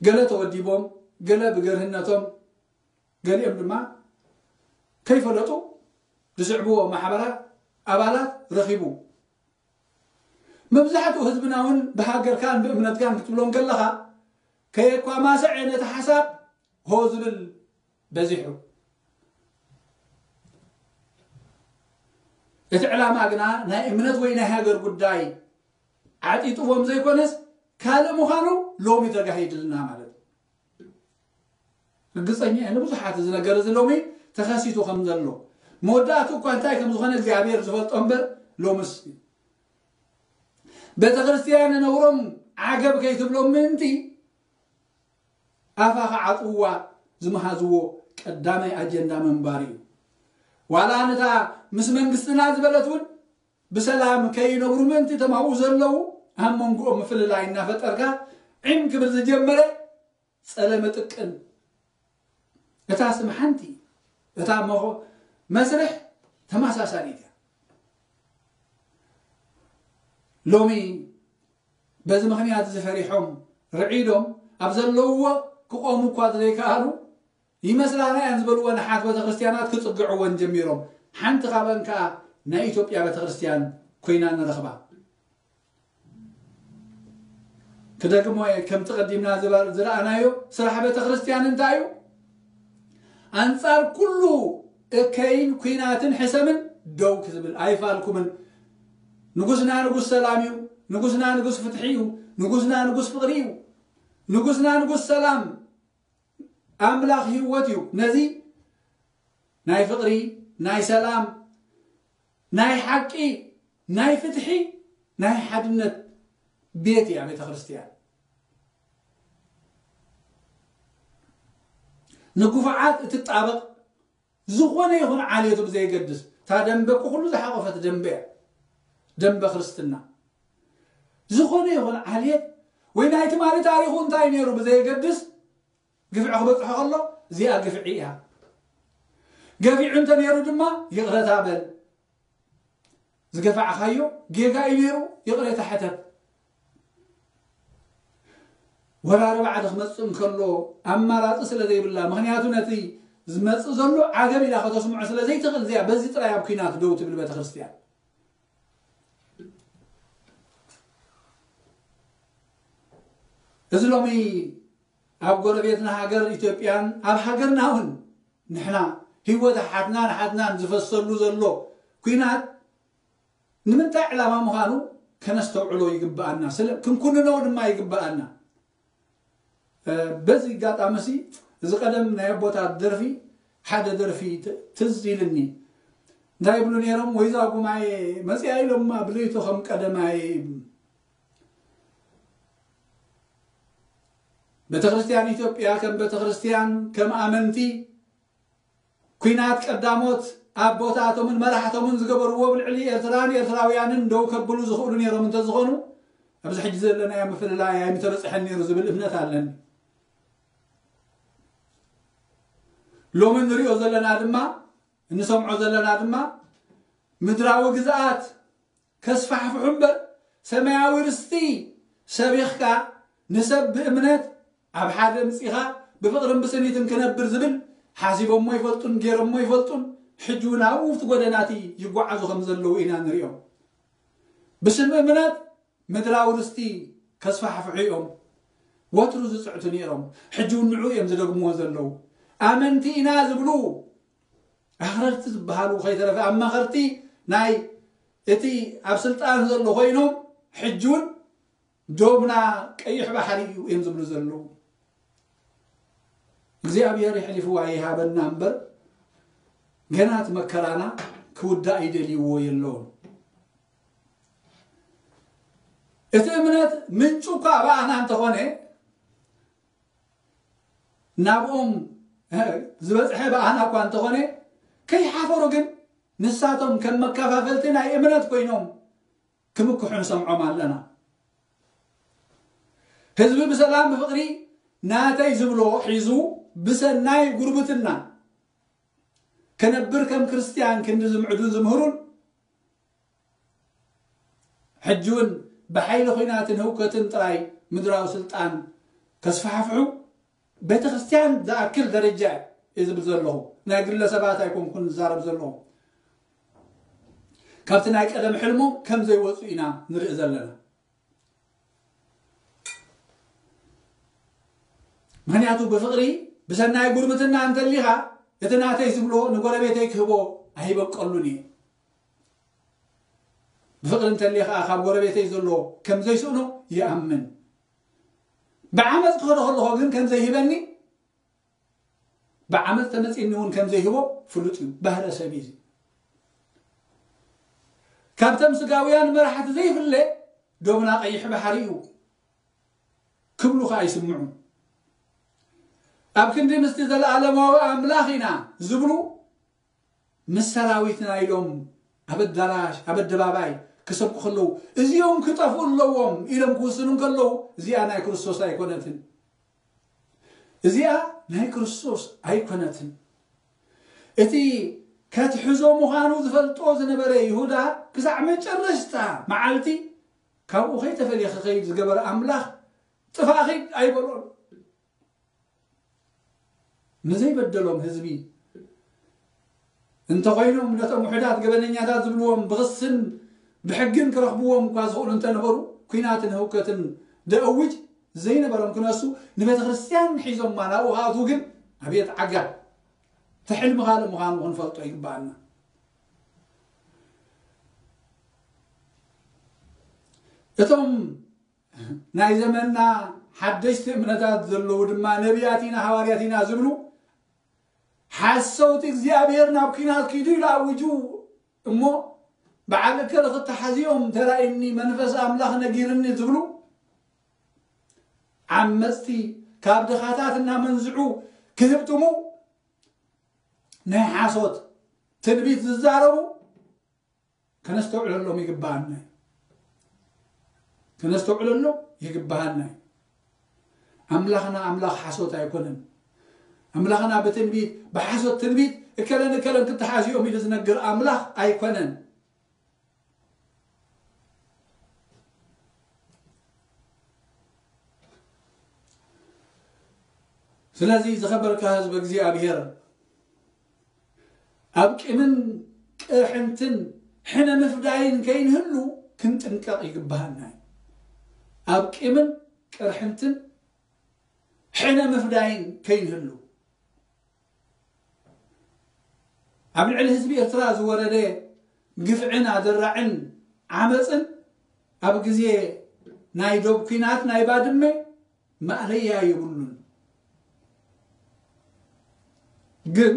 ገለ ተወዲቦም፣ ገለ ብገርህነቶም፣ ገሊኦም ድማ ከይፈለጡ ዝስዕብዎ ማሕበራት ኣባላት ረኺቡ። መብዛሕትኡ ህዝብና እውን ብሃገርካን ብእምነትካን ክትብሎ እንከለኻ ከየኳማሰዐ ነቲ ሓሳብ ሆ ዝብል በዚሑ። እቲ ዕላማ ግና ናይ እምነት ወይ ናይ ሃገር ጉዳይ ዓጢጥዎም ዘይኮነስ ካልእ ምዃኑ ሎሚ ተጋሂድልና ማለት እዩ። ርግጸኛ እየ ንብዙሓት እዚ ነገር እዚ ሎሚ ተኸሲቱ ከም ዘሎ። መወዳእቱ እኳ እንታይ ከም ዝኾነ እግዚኣብሔር ዝፈልጦ እምበር፣ ሎምስ ቤተ ክርስቲያን ነውሮም ዓገብ ከይትብሎም ምእንቲ ኣፋ ክዓጽውዋ ዝመሃዝዎ ቀዳማይ ኣጀንዳ ምንባር እዩ። ዋላ ነታ ምስ መንግስትና ዝበለት እውን ብሰላም ከይነብሩ ምእንቲ እቶም ኣብኡ ዘለዉ ኣብ መንጎኦም ምፍልላይ እናፈጠርካ ዒም ክብል ዝጀመረ ጸለመ ጥቅን። እታ ስም ሓንቲ፣ እታ መኾ-፣ መስርሕ ተመሳሳሊት እያ። ሎሚ በዚ ምኽንያት እዚ ፈሪሖም ርዒዶም ኣብ ዘለውዎ ክቆሙ እኳ ዘይከኣሉ ይመስላና እየን ዝበልወን ኣሓት ቤተክርስትያናት ክጽግዕወን ጀሚሮም። ሓንቲ ካብአን ከኣ ናይ ኢትዮጵያ ቤተክርስትያን ኮይና ንረኽባ። ክደግሞ እየ፣ ከምቲ ቀዲምና ዝበ-፣ ዝረኣናዮ ስራሕ ቤተክርስትያን እንታይ እዩ? ኣንጻር ኩሉ እከይን ኲናትን ሕሰምን ደው ክዝብል ኣይፋልኩምን። ንጉስና ንጉስ ሰላም እዩ። ንጉስና ንጉስ ፍትሒ እዩ። ንጉስና ንጉስ ፍቕሪ እዩ። ንጉስና ንጉስ ሰላም፣ ኣምላኽ ህይወት እዩ። ነዚ ናይ ፍቕሪ፣ ናይ ሰላም፣ ናይ ሓቂ፣ ናይ ፍትሒ፣ ናይ ሓድነት ቤት እያ ቤተ ክርስቲያን። ንግፉዓት እትጣበቕ ዝኾነ ይኹን ዓሌቱ ብዘየገድስ፣ እታ ደንበ ኩሉ ዝሓቖፈት ደንበ እያ። ደንበ ክርስትና። ዝኾነ ይኹን ዓሌት ወይ ናይ ትማሊ ታሪኹ እንታይ ነይሩ ብዘየገድስ፣ ግፍዒ ክበጽሖ ከሎ እዚኣ ግፍዒ እያ። ገፊዑ እንተ ነይሩ ድማ ይቕረታ በል። ዝገፋዕካዮ ጌጋ እዩ ነይሩ፣ ይቕሬታ ሕተት። ወራሪ ባዕዲ ክመጽእ እንከሎ ኣማራጺ ስለ ዘይብላ፣ ምኽንያቱ ነቲ ዝመጽእ ዘሎ ዓገብ ኢላ ከተስምዖ ስለ ዘይትኽእል፣ እዚኣ በዚ ጥራይ ኣብ ኲናት ደው ትብል ቤተክርስትያን። እዚ ሎሚ ኣብ ጎረቤትና ሃገር ኢትዮጵያን ኣብ ሃገርና እውን ንሕና ህይወት ሓትናን ሓትናን ዝፈሰሉ ዘሎ ኲናት ንምንታይ ዕላማ ምዃኑ ከነስተውዕሎ ይግብኣና፣ ስለ ክንኩንኖ ድማ ይግብኣና። በዚ ኣጋጣሚ እዚ ቀደም ናይ ኣቦታት ደርፊ ሓደ ደርፊ ትዝ ኢልኒ። እንታይ ይብሉ ነይሮም? ወይዛ ጉማየ መፅያ ኢሎማ ብለይቶ ከም ቀደማይ ቤተክርስትያን ኢትዮጵያ ከም ቤተክርስትያን ከም ኣመንቲ ኲናት ቀዳሞት ኣቦታቶምን መራሕቶምን ዝገበርዎ ብልዕሊ ኤርትራን ኤርትራውያንን ደው ከብሉ ዝኽእሉ ነይሮም እንተዝኾኑ ኣብዚ ሕጂ ዘለናዮ ምፍልላይ ኣይምተበፅሐን ነይሩ ዝብል እምነት ኣለኒ። ሎሚ ንሪኦ ዘለና ድማ እንሰምዖ ዘለና ድማ ምድራዊ ግዝኣት ከስፋሕፍሑ እምበር ሰማያዊ ርስቲ ሰቢኽካ ንሰብ ብእምነት ኣብ ሓደ ምጺኻ ብፍቕርን ብስኒትን ክነብር ዝብል ሓሲቦሞ ይፈልጡን ገይሮሞ ይፈልጡን። ሕጂ እውን ኣብኡ እቲ ጎደናቲ ይጓዓዙ ከም ዘለዉ ኢና ንሪኦም። ብስም እምነት ምድራዊ ርስቲ ከስፋሕፍሑ እዮም ወትሩ ዝፅዕቱ ነይሮም። ሕጂ እውን ንዑ እዮም ዝደግምዎ ዘለዉ። ኣመንቲ ኢና ዝብሉ ኣኽረርቲ ዝበሃሉ ከይተረፈ ኣማኸርቲ ናይ እቲ ኣብ ስልጣን ዘሎ ኮይኖም ሕጂ እውን ዶብና ቀይሕ ባሕሪ እዩ እዮም ዝብሉ ዘለዉ። እግዚኣብሔር የሕሊፍዋ ይሃበና እምበር ገና እቲ መከራና ክውዳእ ይደልይዎ የለውን። እቲ እምነት ምንጩ እኳ ብኣና እንተኾነ ናብኦም ዝበፅሐ ብኣና እኳ እንተኾነ ከይሓፈሩ ግን ንሳቶም ከም መከፋፈልቲ ናይ እምነት ኮይኖም ክምክሑ ንሰምዖም ኣለና። ህዝቢ ብሰላም ብፍቕሪ ናተይ ዝብሎ ሒዙ ብሰናይ ጉርብትና ክነብር ከም ክርስትያን ክንዲ ዝምዕዱን ዝምህሩን ሕጂ እውን ብሓይሊ ኹናትን ህውከትን ጥራይ ምድራዊ ስልጣን ከስፋሕፍሑ ቤተ ክርስትያን ዝኣክል ደረጃ እየ ዝብል ዘለኹ። ናይ ግለሰባት ኣይኮንኩን ዝዛረብ ዘለኹ። ካብቲ ናይ ቀደም ሕልሞም ከም ዘይወፁ ኢና ንርኢ ዘለና። ምክንያቱ ብፍቕሪ ብሰናይ ጉርብትና እንተሊኻ እቲ ናተይ ዝብሎ ንጎረቤተይ ክህቦ ኣይበቀሉን እየ። ብፍቕሪ እንተሊኻ ካብ ጎረቤተይ ዘሎ ከም ዘይስእኖ ይኣምን። ብዓመፅ ክኸዶ ከለኹ ግን ከም ዘይህበኒ ብዓመፅ ተመፂኒ እውን ከም ዘይህቦ ፍሉጥ እዩ። ባህረ ሰብ እዩ። ካብቶም ስጋውያን መራሕቲ ዘይፍለ ዶብና ቀይሕ ባሕሪ እዩ ክብሉ ከዓ ይስምዑ። ኣብ ክንዲ ምስቲ ዘለኣለማዊ ኣምላኽ ኢና ዝብሉ ምስ ሰራዊትና ኢሎም ኣብ ኣዳራሽ ኣብ ኣደባባይ ክሰብኩ ከለዉ እዚኦም ክጠፍኡ ኣለዎም ኢሎም ክውስኑ ከለዉ እዚኣ ናይ ክርስቶስ ኣይኮነትን። እዚኣ ናይ ክርስቶስ ኣይኮነትን። እቲ ከትሕዞ ምዃኑ ዝፈልጦ ዝነበረ ይሁዳ ክሳዕ መጨረሽታ መዓልቲ ካብኡ ከይተፈልየ ክኸይድ ዝገበረ ኣምላኽ ጥፋእኺ ኣይበሎን። ንዘይበደሎም ህዝቢ እንተኾይኖም ነቶም ውሑዳት ገበነኛታት ዝብልዎም ብኽስን ብሕግን ክረኽብዎም እኳ ዝኽእሉ እንተነበሩ ኲናትን ህውከትን ደእውጅ ዘይነበሮም ክነሱ ንቤተ ክርስትያን ሒዞማ ናብኡ ክኣትዉ ግን ኣብየት ዓጋ እቲ ሕልሚ ካልእ ምዃኑ ክንፈልጦ ይግብኣና። እቶም ናይ ዘመንና ሓደሽቲ እምነታት ዘለዉ ድማ ነቢያት ኢና ሃዋርያት ኢና ዝብሉ ሓሰውቲ እግዚኣብሔር ናብ ኲናት ኪዱ ኢሉ ኣውጁ እሞ በዓል እከለ ክተሓዝዮም ተራእኒ መንፈስ ኣምላኽ ነጊርኒ ዝብሉ ዓመፅቲ ካብ ድኻታት እናመንዝዑ ክህብትሙ ናይ ሓሶት ትንቢት ዝዛረቡ ከነስተውዕለሎም ይግብኣና እዩ። ከነስተውዕለሎም ይግብኣና እዩ። ኣምላኽና ኣምላኽ ሓሶት ኣይኮነን። ኣምላኽና ብትንቢት ብሓሶት ትንቢት እከለን እከለን ክተሓዝኦም ኢሉ ዝነግር ኣምላኽ ኣይኮነን። ስለዚ ዝኸበርካ ህዝቢ እግዚኣብሔር ኣብ ቂምን ቅርሕንትን ሕነ ምፍዳይን ከይንህሉ ክንጥንቀቕ ይግብሃና እዩ። ኣብ ቂምን ቅርሕንትን ሕነ ምፍዳይን ከይንህሉ፣ ኣብ ልዕሊ ህዝቢ ኤርትራ ዝወረደ ግፍዕን ኣደራዕን ዓመፅን ኣብ ግዜ ናይ ዶብ ኲናት ናይ ባድመ ማእለያ የብሉን። ግን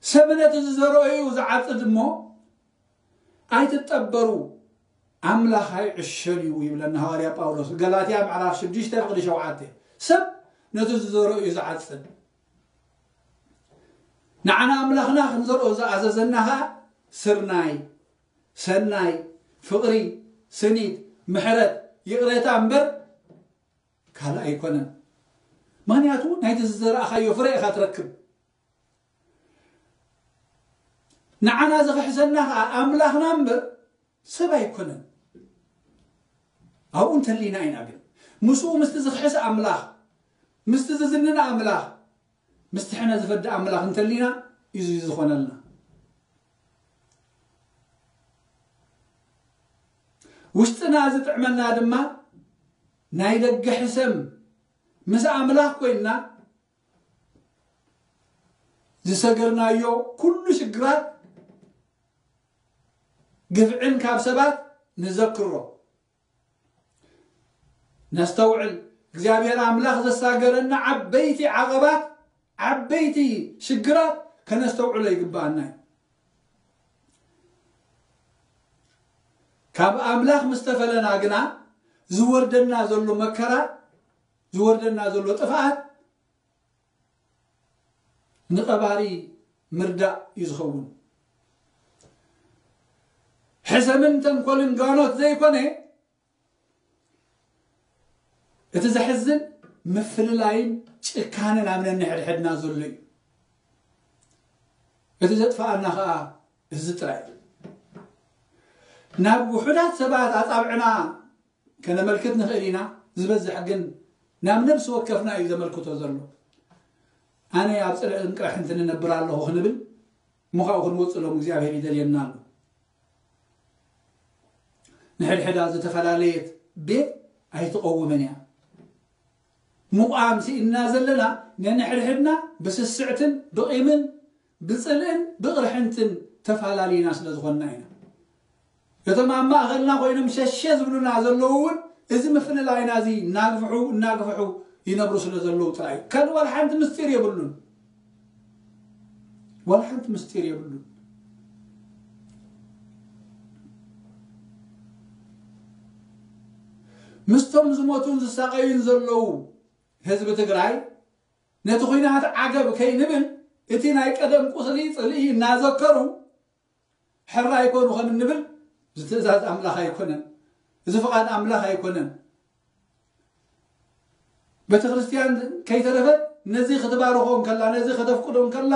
ሰብ ነቲ ዝዘርኦ እዩ ዝዓጽድ እሞ ኣይትጠበሩ፣ ኣምላኽ ኣይዕሸን እዩ ይብለና ሃዋርያ ጳውሎስ፣ ገላትያ ምዕራፍ ሽዱሽተ ፍቕዲ ሸውዓተ። ሰብ ነቲ ዝዘርኦ እዩ ዝዓጽድ። ንዓና ኣምላኽና ክንዘርኦ ዝኣዘዘና ኸኣ ስርናይ፣ ሰናይ፣ ፍቕሪ፣ ስኒት፣ ምሕረት፣ ይቕሬታ እምበር ካልእ ኣይኮነን። ምኽንያቱ ናይቲ ዝዘራእኻዮ ፍረ ኢኻ ትረክብ። ንዓና ዝኽሕሰና ኸኣ ኣምላኽና እምበር ሰብ ኣይኮነን። ኣብኡ እንተሊና ኢና ግን ምስኡ ምስቲ ዝኽሕስ ኣምላኽ፣ ምስቲ ዝዝንን ኣምላኽ፣ ምስቲ ሕነ ዝፈዲ ኣምላኽ እንተሊና እዩ ዝኾነልና። ውሽጥና ዝጥዕመና ድማ ናይ ደገ ሕሰም ምስ ኣምላኽ ኮይንና ዝሰገርናዮ ኩሉ ሽግራት ግፍዕን ካብ ሰባት ንዘክሮ። ነስተውዕል። እግዚኣብሔር ኣምላኽ ዘሳገረና ዓበይቲ ዓቐባት፣ ዓበይቲ ሽግራት ከነስተውዕሎ ይግብኣና እዩ። ካብ ኣምላኽ ምስ ተፈለና ግና ዝወርደና ዘሎ መከራ፣ ዝወርደና ዘሎ ጥፍኣት ንቐባሪ ምርዳእ እዩ ዝኸውን። ሕሰምን ተንኮልን ጋኖት ዘይኮነ፣ እቲ ዘሕዝን ምፍልላይን ጭካነን ኣብ ነንሕድሕድና ዘሎ እዩ። እቲ ዘጥፍኣና ኸኣ እዚ ጥራይ እዩ። ናብ ውሑዳት ሰባት ኣጻብዕና ከነመልክት ንኽእል ኢና፣ ዝበዝሕ ግን ናብ ነብሲ ወከፍና እዩ ዘመልክቶ ዘሎ። ኣነ ኣብ ጽልእን ቅርሕንትን እነብር ኣለኹ ክንብል፣ እሞ ካብኡ ክንወጽእ ሎም እግዚኣብሔር ይደልየና ኣሎ። ንሕድሕዳ ዝተፈላለየት ቤት ኣይትቐውምን እያ። ምቋም ስኢንና ዘለና ነንሕድሕድና ብስስዕትን ብቂምን ብጽልእን ብቕርሕንትን ተፈላለይና ስለ ዝኾንና ኢና። እቶም ኣብ ማእኸልና ኮይኖም ሸሸ ዝብሉና ዘለዉ እውን እዚ ምፍልላይና እዚ እናግፍሑ እናግፍሑ ይነብሩ ስለ ዘለዉ ጥራይ እዩ። ካልእ ዋላ ሓንቲ ምስጢር የብሉን። ዋላ ሓንቲ ምስጢር የብሉን። ምስቶም ዝሞቱን ዝሳቐዩን ዘለዉ ህዝቢ ትግራይ ነቲ ኹናት ዓገብ ከይንብል እቲ ናይ ቀደም ቁስሊ ጽልኢ እናዘከሩ ሕራይ ኮኑ ከም እንብል እዚ ትእዛዝ ኣምላኽ ኣይኮነን። እዚ ፍቓድ ኣምላኽ ኣይኮነን። ቤተ ክርስቲያን ከይተረፈት ነዚ ክትባርኾ እንከላ፣ ነዚ ከተፍቅዶ እንከላ፣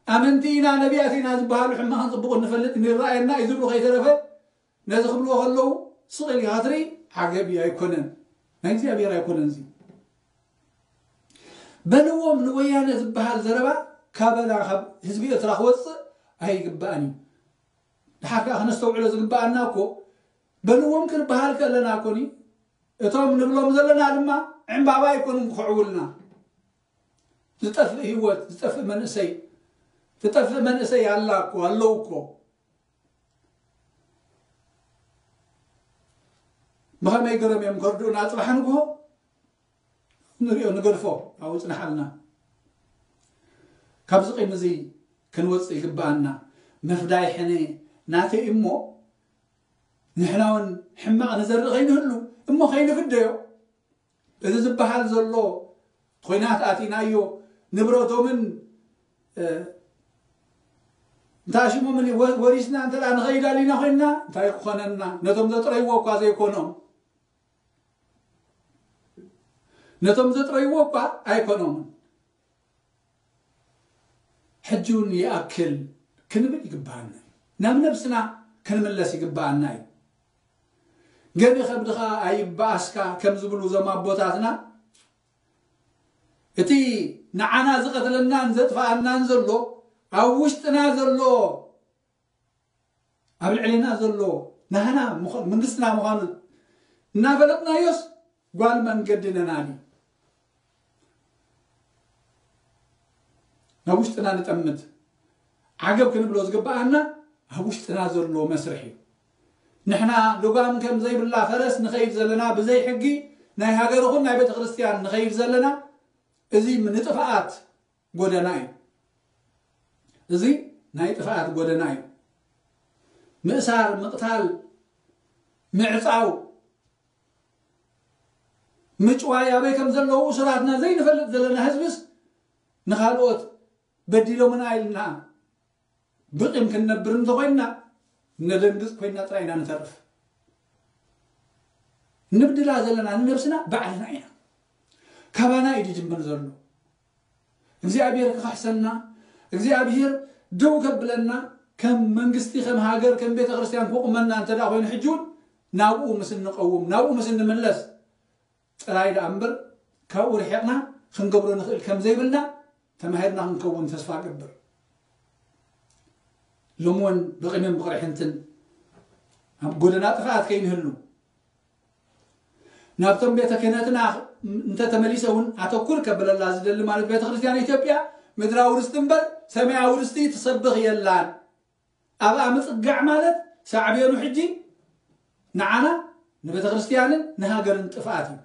ኣመንቲ ኢና፣ ነቢያት ኢና ዝበሃሉ ሕማቕን ጽቡቕን ንፈልጥ፣ ንረኣየና እዩ ዝብሉ ከይተረፈ ነዚ ክብልዎ ከለዉ ስቕ ኢልካ ክትርኢ ዓገብ እዩ ኣይኮነን። ናይ እግዚኣብሔር ኣይኮነን እዚ። በልዎም ንወያነ ዝበሃል ዘረባ ካበና ካብ ህዝቢ ኤርትራ ክወፅእ ኣይግባእን እዩ። ድሓር ከዓ ክነስተውዕሎ ዝግባኣና እኮ በልዎም ክንበሃል ከለና እኮኒ እቶም ንብሎም ዘለና ድማ ዕምባባ ኣይኮኑን ክኽዕውልና። ዝጠፍእ ህይወት፣ ዝጠፍእ መንእሰይ፣ ትጠፍእ መንእሰይ ኣላ እኮ፣ ኣለዉ እኮ። ብኸመይ ገሮም እዮም ከርድኡና? ጽባሕ ንግሆ ንሪኦ፣ ንገድፎ፣ ኣብኡ ጽንሓልና። ካብዚ ቂም እዚ ክንወጽእ ይግብኣና። ምፍዳይ ሕነ ናተይ እሞ ንሕና እውን ሕማቕ ንዘርእ ከይንህሉ እሞ ከይንፍደዮ። እዚ ዝበሃል ዘሎ ኾይናት ኣቲናዮ ንብረቶምን፣ እ፣ እንታይ ሽሞምን ወ-፣ ወሪስና እንተ ደኣ ንኸይድ ኣሊና ኮይንና እንታይ ክኾነና? ነቶም ዘጥረይዎ እኳ ዘይኮኖም፣ ነቶም ዘጥረይዎ እኳ ኣይኮኖምን። ሕጂ እውን ይኣክል ክንብል ይግብኣና እዩ። ናብ ነብስና ክንምለስ ይግብኣና እዩ። ገቢ ከብድኻ ኣይበኣስካ ከም ዝብሉ እዞም ኣቦታትና፣ እቲ ንዓና ዝቐትለናን ዘጥፍኣናን ዘሎ፣ ኣብ ውሽጥና ዘሎ፣ ኣብ ልዕሌና ዘሎ ናህና ምዃ-፣ መንግስትና ምዃኑ እናፈለጥናዮስ፣ ጓል መንገዲ ነናዲ ናብ ውሽጥና ንጠምት። ዓገብ ክንብሎ ዝግብኣና ኣብ ውሽጥና ዘሎ መስርሕ እዩ። ንሕና ልጓም ከም ዘይብላ ፈረስ ንኸይድ ዘለና፣ ብዘይ ሕጊ ናይ ሃገር ይኹን ናይ ቤተ ክርስቲያን ንኸይድ ዘለና፣ እዚ ንጥፍኣት ጎደና እዩ። እዚ ናይ ጥፍኣት ጎደና እዩ። ምእሳር፣ ምቕታል፣ ምዕጻው፣ ምጭዋይ ኣበይ ከም ዘለዉ እሱራትና ዘይንፈልጥ ዘለና ህዝብስ ንኻልኦት በዲሎምና ኢልና ብቂም ክንነብር እንተኾይንና ነደንግጽ ኮይንና ጥራይ ኢና ንተርፍ። ንብድላ ዘለና ንነብስና ባዕልና ኢና። ካባና እዩ ዝጅምር ዘሎ። እግዚኣብሔር ክኸሕሰና፣ እግዚኣብሔር ደው ከብለና፣ ከም መንግስቲ፣ ከም ሃገር፣ ከም ቤተ ክርስቲያን ክቑመና እንተ ደኣ ኮይኑ፣ ሕጂ እውን ናብኡ ምስ እንቐውም፣ ናብኡ ምስ እንምለስ ጥራይ ደኣ እምበር፣ ካብኡ ርሒቕና ክንገብሮ ንኽእል ከም ዘይብልና ተማሂርና ክንከውን ተስፋ እገብር። ሎሚ እውን ብቕምን ብቕርሕንትን ኣብ ጎደና ጥፍኣት ከይንህሉ፣ ናብቶም ቤተ ክህነትና እንተተመሊሰ እውን ኣተኩር ከብለላ ዝደሊ፣ ማለት ቤተ ክርስቲያን ኢትዮጵያ ምድራዊ ርስቲ እምበር ሰማያዊ ርስቲ ትሰብኽ የላን። ኣብኣ ምጽጋዕ ማለት ሳዕቤኑ ሕጂ ንዓና ንቤተ ክርስቲያንን ንሃገርን ጥፍኣት እዩ።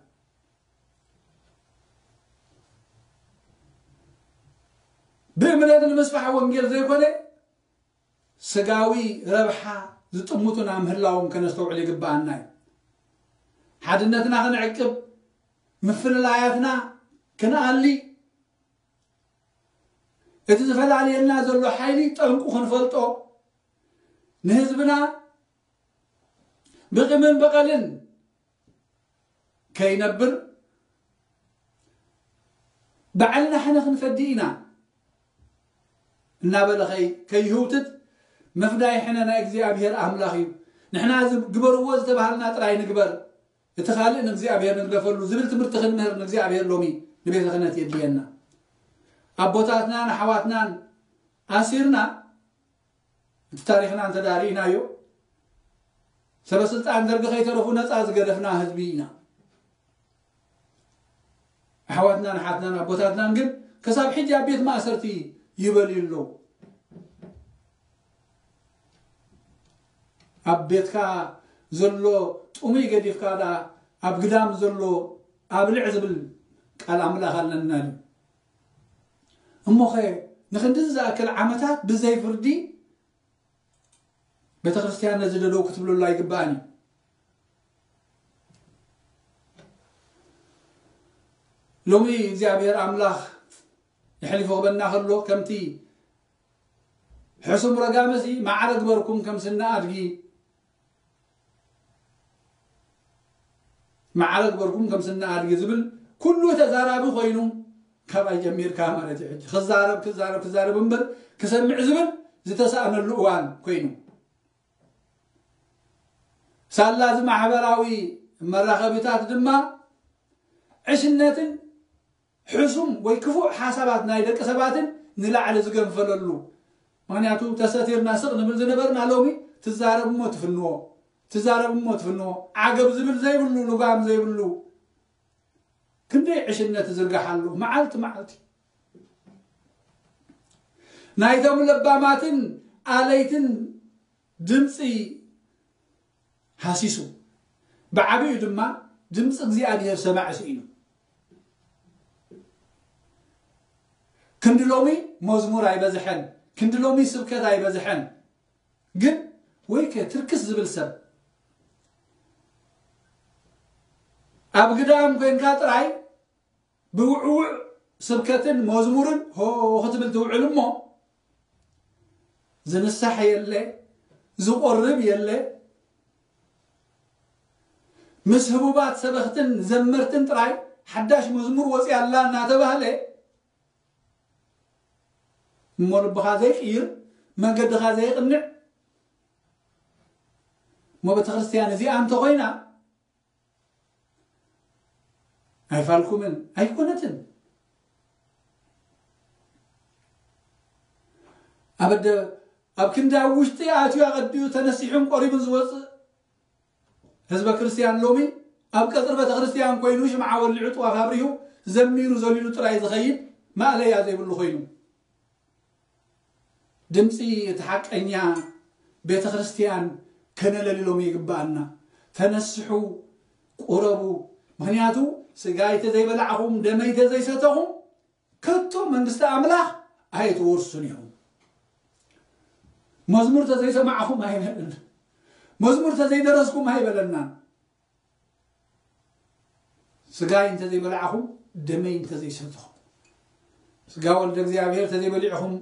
ብእምነት ንምስፋሕ ወንጌል ዘይኮነ ስጋዊ ረብሓ ዝጥምቱና ምህላዎም ከነስተውዕል ይግብኣና እዩ። ሓድነትና ክንዕቅብ፣ ምፍልላያትና ክንኣሊ፣ እቲ ዝፈላልየና ዘሎ ሓይሊ ጠንቁ ክንፈልጦ፣ ንህዝብና ብቂምን በቐልን ከይነብር፣ ባዕልና ሕነ ክንፈዲ ኢና እናበለ ከይ-፣ ከይህውትት፣ መፍዳይ ሕነ ናይ እግዚኣብሔር ኣምላኽ እዩ። ንሕና እዚ ግበርዎ ዝተባሃልና ጥራይ ንግበር፣ እቲ ካልእ ንእግዚኣብሔር ንግደፈሉ ዝብል ትምህርቲ ክንምህር ንእግዚኣብሔር ሎሚ ንቤተ ክህነት የድልየና። ኣቦታትናን ኣሕዋትናን ኣሲርና፣ እቲ ታሪኽና እንተ ዳኣ ርኢናዮ፣ ሰበ ስልጣን ደርጊ ከይተረፉ ነፃ ዝገደፍና ህዝቢ ኢና። ኣሕዋትናን ኣሓትናን ኣቦታትናን ግን ክሳብ ሕጂ ኣብ ቤት ማእሰርቲ ይበልዩ ኣለዉ። ኣብ ቤትካ ዘሎ ጥሙይ ገዲፍካ ደኣ ኣብ ግዳም ዘሎ ኣብልዕ ዝብል ቃል ኣምላኽ ኣለና ድዩ? እሞኸ ንኽንድዚ ዝኣክል ዓመታት ብዘይ ፍርዲ ቤተ ክርስቲያን ነዚ ደደው ክትብለሉ ኣይግባእን እዩ። ሎሚ እግዚኣብሔር ኣምላኽ የሕሊፉ ክበና ከሎ ከምቲ ሕሱም ረጋመሲ ማዕረ ግበርኩም ከም ስነ ኣድጊ፣ ማዕረ ግበርኩም ከም ስነ ኣድጊ ዝብል ኩሉ ተዛራቢ ኮይኑ ካባይ ጀሚርካ ማለት እዩ። ሕጂ ክዛረብ፣ ክዛረብ፣ ክዛረብ እምበር ክሰምዕ ዝብል ዝተሳእነሉ እዋን ኮይኑ፣ ሳላ እዚ ማሕበራዊ መራኸቢታት ድማ ዕሽነትን ሕሱም ወይ ክፉእ ሓሳባት ናይ ደቂ ሰባትን ንላዕሊ ዝገንፈለሉ። ምኽንያቱ ተሰቲርና ስቕ ንብል ዝነበርና ሎሚ ትዛረብ እሞ ትፍንዎ፣ ትዛረብ እሞ ትፍንዎ። ዓገብ ዝብል ዘይብሉ፣ ልጓም ዘይብሉ ክንደይ ዕሽነት ዝርጋሓሉ መዓልቲ መዓልቲ። ናይቶም ለባማትን ኣለይትን ድምፂ ሃሲሱ፣ ብዓቢኡ ድማ ድምፂ እግዚኣብሔር ሰማዒ ስኢኑ። ክንዲ ሎሚ መዝሙር ኣይበዝሐን፣ ክንዲ ሎሚ ስብከት ኣይበዝሐን። ግን ወይከ ትርክስ ዝብል ሰብ ኣብ ግዳም ኮንካ ጥራይ ብውዕውዕ ስብከትን መዝሙርን ሆ ክትብል ትውዕል እሞ፣ ዝንሳሕ የለ፣ ዝቆርብ የለ። ምስ ህቡባት ሰበኽትን ዘመርትን ጥራይ ሓዳሽ መዝሙር ወፂኣ ኣላ እናተባህለ እሞ ልብኻ ዘይቅይር፣ መንገድኻ ዘይቅንዕ፣ እሞ ቤተ ክርስቲያን እዚኣ እንተኾይና ኣይፋልኩምን ኣይኮነትን። ኣብ ኣደ-፣ ኣብ ክንዲ ኣብ ውሽጢ ኣትዩ ኣቐዲኡ ተነሲሑን ቆሪቡን ዝወፅእ ህዝበ ክርስቲያን ሎሚ ኣብ ቀጽሪ ቤተክርስትያን ኮይኑ ሽምዓ ወሊዑ ጥዋፍ ኣብሪሁ ዘሚሩ ዘሊሉ ጥራይ ዝኸይድ ማእለያ ዘይብሉ ኮይኑ። ድምፂ እቲ ሓቀኛ ቤተክርስትያን ከነለልሎም ይግባኣና። ተነስሑ፣ ቁረቡ። ምኽንያቱ ስጋይ ተዘይበላዕኹም ደመይ ተዘይሰተኹም ከቶ መንግስቲ ኣምላኽ ኣይትወርሱን ኢኹም። መዝሙር ተዘይሰማዕኹም ኣይበለና። መዝሙር ተዘይደረስኩም ኣይበለናን። ስጋይ እንተዘይበላዕኹም ደመይ እንተዘይሰትኹም፣ ስጋ ወልደ እግዚኣብሔር ተዘይበሊዕኹም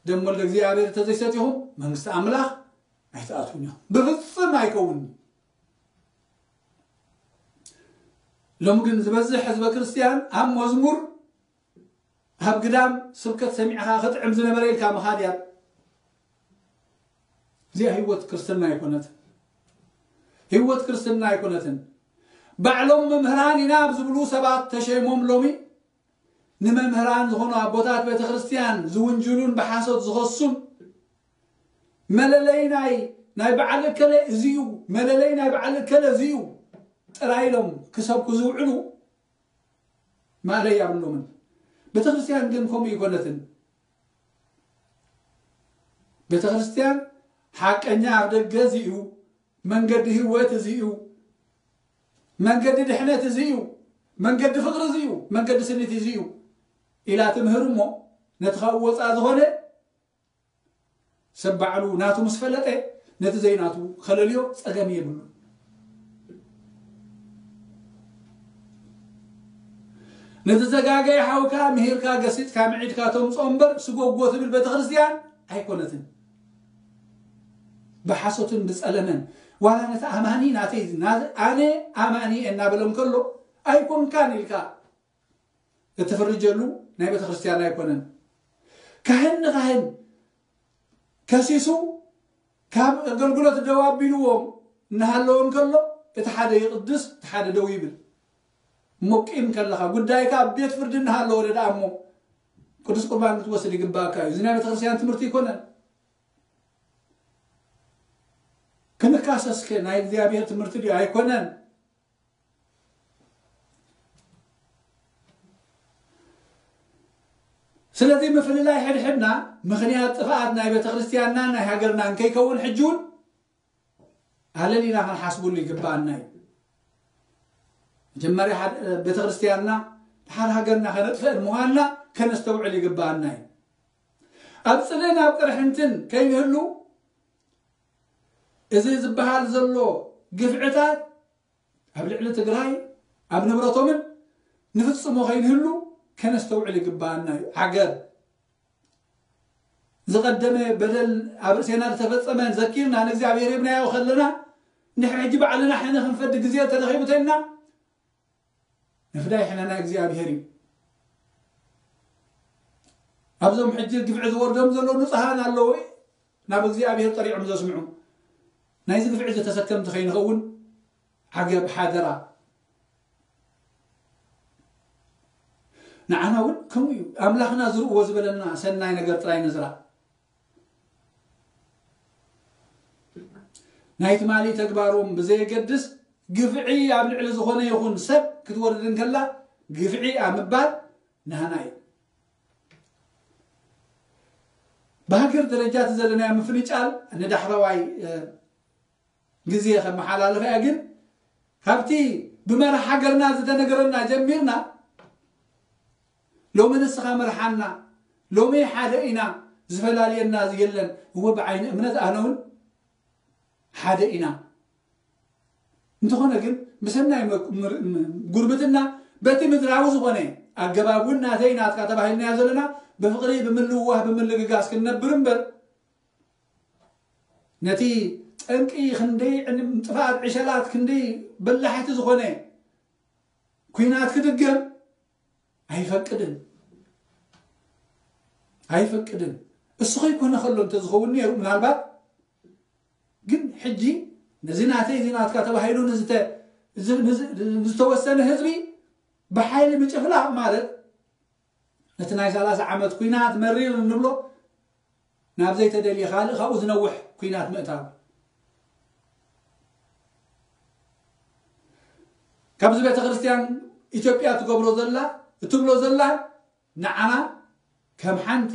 ደም ወልደ እግዚኣብሔር ተዘይሰቲኹም መንግስቲ ኣምላኽ ኣይትኣትዉን ኢኹም። ብፍጽም ኣይከውንን። ሎሚ ግን ዝበዝሕ ህዝበ ክርስትያን ኣብ መዝሙር ኣብ ግዳም ስብከት ሰሚዕኻ ክጥዕም ዝነበረ ኢልካ ምኻድ እያ። እዚኣ ህይወት ክርስትና ኣይኮነትን። ህይወት ክርስትና ኣይኮነትን። ባዕሎም መምህራን ኢና ኣብ ዝብሉ ሰባት ተሸይሞም ሎሚ ንመምህራን ዝኾኑ ኣቦታት ቤተ ክርስትያን ዝውንጅሉን ብሓሶት ዝኸሱን መለለይ ናይ ናይ በዓል እከለ እዚ እዩ፣ መለለይ ናይ በዓል እከለ እዚ እዩ ጥራይ ኢሎም ክሰብኩ ዝውዕሉ ማእለያ የብሎምን። ቤተክርስትያን ግን ከምኡ ይኮነትን። ቤተክርስትያን ሓቀኛ ኣብ ደገ እዚ እዩ፣ መንገዲ ህይወት እዚ እዩ፣ መንገዲ ድሕነት እዚ እዩ፣ መንገዲ ፍቅሪ እዚ እዩ፣ መንገዲ ስኒት እዚ እዩ ኢላ ትምህር እሞ ነቲ ካብኡ ወፃ ዝኾነ ሰብ ባዕሉ ናቱ ምስ ፈለጠ ነቲ ዘይናቱ ከለልዮ ጸገም የብሉ። ነቲ ዘጋገየ ሓውካ ምሂርካ ገሲጽካ ምዒድካ ተምጽኦ እምበር ስጎጎ ትብል ቤተክርስትያን ኣይኮነትን። ብሓሶትን ብጸለመን ዋላ ነቲ ኣማኒ ናተይ ና- ኣነ ኣማኒ እናበለ እንከሎ ኣይኮንካን ኢልካ እትፍርጀሉ ናይ ቤተክርስትያን ኣይኮነን። ካህን ንካህን ከሲሱ ካብ ኣገልግሎት ደው ኣቢልዎም እናሃለወ እንከሎ እቲ ሓደ ይቕድስ እቲ ሓደ ደው ይብል። እሞ ቂም ከለኻ ጉዳይካ ኣብ ቤት ፍርዲ እናሃለወ ደኣ እሞ ቅዱስ ቁርባን ክትወስድ ይግባእካ እዩ። እዚ ናይ ቤተክርስትያን ትምህርቲ ኣይኮነን። ክንካሰስከ ናይ እግዚኣብሔር ትምህርቲ ድዩ? ኣይኮነን። ስለዚ ምፍልላይ ሕድሕድና ምኽንያት ጥፍኣት ናይ ቤተክርስትያንና ናይ ሃገርና እንከይከውን ሕጂ እውን ኣለሊና ክንሓስብሉ ይግባኣና እዩ። መጀመርያ ሓደ- ቤተክርስትያንና ድሓር ሃገርና ከነጥፍአን ምዃንና ከነስተውዕል ይግባኣና እዩ። ኣብ ጽልእን ኣብ ቅርሕንትን ከይንህሉ እዚ ዝበሃል ዘሎ ግፍዕታት ኣብ ልዕሊ ትግራይ ኣብ ንብረቶምን ንፍጽሞ ከይንህሉ ከነስተውዕል ይግባኣና እዩ። ዓገብ ዝቐደመ በደል ኣብ ርእሴና ዝተፈጸመ ዘኪርና ንእግዚኣብሔር ሂብናዮ ከለና ንሕና ሕጂ ባዕልና ሕነ ክንፈዲ ግዜ ተረኺቡ ተልና ንፍዳይ ሕነና እግዚኣብሔር እዩ። ኣብዞም ሕጂ ግፍዒ ዝወርዶም ዘለዉ ንጹሃን ኣለዉ ናብ እግዚኣብሔር ጠሪዖም ዘስምዑ ናይዚ ግፍዒ ዝተሰከምቲ ከይንኸውን ዓገብ ሓደራ። ንዓና እውን ከምኡ እዩ። ኣምላኽና ዝርእዎ ዝበለና ሰናይ ነገር ጥራይ ንዝራ። ናይ ትማሊ ተግባሮም ብዘየገድስ ግፍዒ ኣብ ልዕሊ ዝኾነ ይኹን ሰብ ክትወርድ እንከላ ግፍዒ ኣብ ምባል ናህና እዩ። ብሃገር ደረጃ እቲ ዘለናዮ ምፍንጫል ንዳሕረዋይ ግዜ ከመሓላልፋ እያ። ግን ካብቲ ብመራሕ ሃገርና ዝተነገረና ጀሚርና ሎሚ ንስኻ መርሓና፣ ሎሚ ሓደ ኢና፣ ዝፈላልየና የለን። እወ ብዓይኒ እምነት ኣነ እውን ሓደ ኢና። እንተኾነ ግን ብሰናይ መ- ምር- ም- ጉርብትና በቲ ምድራዊ ዝኾነ ኣገባብ እውን ናተይ ናትካ ተባሂልናዮ ዘለና ብፍቕሪ ብምልውዋህ ብምልግጋስ ክንነብር እምበር ነቲ ጠንቂ ክንደይ ዕን- ጥፍኣት ዕሸላት ክንደይ በላሕቲ ዝኾነ ኲናት ክድገም ኣይፈቅድን ኣይፈቅድን። እሱ ከይኮነ ከሎ እንተዝኸውን ነይሩ ምናልባት ግን ሕጂ ነዚ ናተይ እዚ ናትካ ተባሂሉ ንዝተ- ንዝ- ንዝ- ንዝተወሰነ ህዝቢ ብሓይሊ ምጭፍላቕ ማለት ነቲ ናይ ሰላሳ ዓመት ኲናት መሪር እንብሎ ናብ ዘይተደልየ ካልእ ካብኡ ዝነውሕ ኲናት ምእታው። ካብዚ ቤተ ክርስቲያን ኢትዮጵያ ትገብሮ ዘላ፣ እትብሎ ዘላ፣ ንዓና ከም ሓንቲ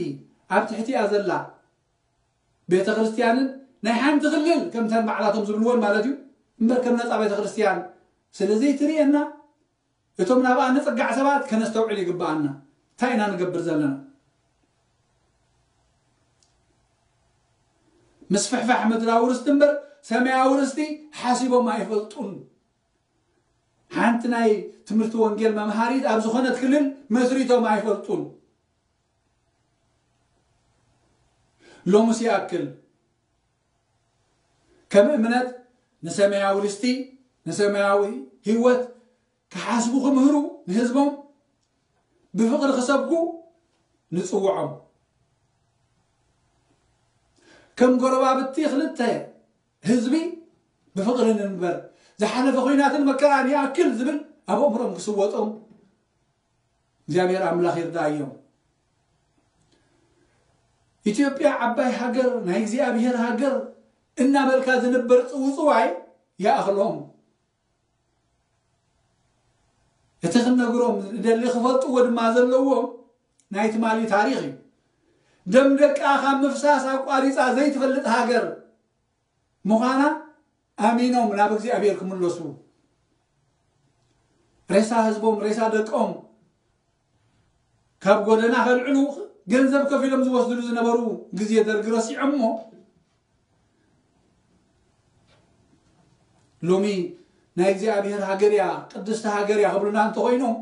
ኣብ ትሕቲኣ ዘላ ቤተ ክርስቲያንን ናይ ሓንቲ ክልል ከምተን ባዕላቶም ዝብልዎን ማለት እዩ፣ እምበር ከም ነፃ ቤተ ክርስቲያን ስለ ዘይትርእየና፣ እቶም ናብኣ ንጽጋዕ ሰባት ከነስተውዕል ይግብኣና። እንታይ ኢና ንገብር ዘለና? ምስፍሕፋሕ ምድራዊ ርስቲ እምበር ሰማያዊ ርስቲ ሓሲቦም ኣይፈልጡን። ሓንቲ ናይ ትምህርቲ ወንጌል መምሃሪት ኣብ ዝኾነት ክልል መስሪቶም ኣይፈልጡን። ሎምስ ይኣክል። ከም እምነት ንሰማያዊ ርስቲ፣ ንሰማያዊ ህይወት ክሓስቡ ክምህሩ ንህዝቦም ብፍቕሪ ክሰብኩ ንጽውዖም። ከም ጎረባብቲ ክልተ ህዝቢ ብፍቕሪ ንንበር፣ ዝሓለፈ ኹናትን መከራን ይኣክል ዝብል ኣብ ኣእምሮም ክስወጦም እግዚኣብሔር ኣምላኽ ይርዳእዮም። ኢትዮጵያ ዓባይ ሃገር፣ ናይ እግዚኣብሔር ሃገር እናበልካ ዝንበር ጽውጽዋይ ይኣኽሎም። እቲ ክንነግሮም ንደሊ ክፈልጥዎ ድማ ዘለዎም ናይ ትማሊ ታሪኽ እዩ። ደም ደቃ ካብ ምፍሳስ ኣቋሪጻ ዘይትፈልጥ ሃገር ምዃና ኣሚኖም ናብ እግዚኣብሔር ክምለሱ፣ ሬሳ ህዝቦም፣ ሬሳ ደቆም ካብ ጎደና ከልዕሉ ገንዘብ ከፊሎም ዝወስድሉ ዝነበሩ ግዜ ደርጊ ረሲዖሞ፣ ሎሚ ናይ እግዚኣብሔር ሃገር እያ፣ ቅድስቲ ሃገር እያ ክብሉና እንተኾይኖም፣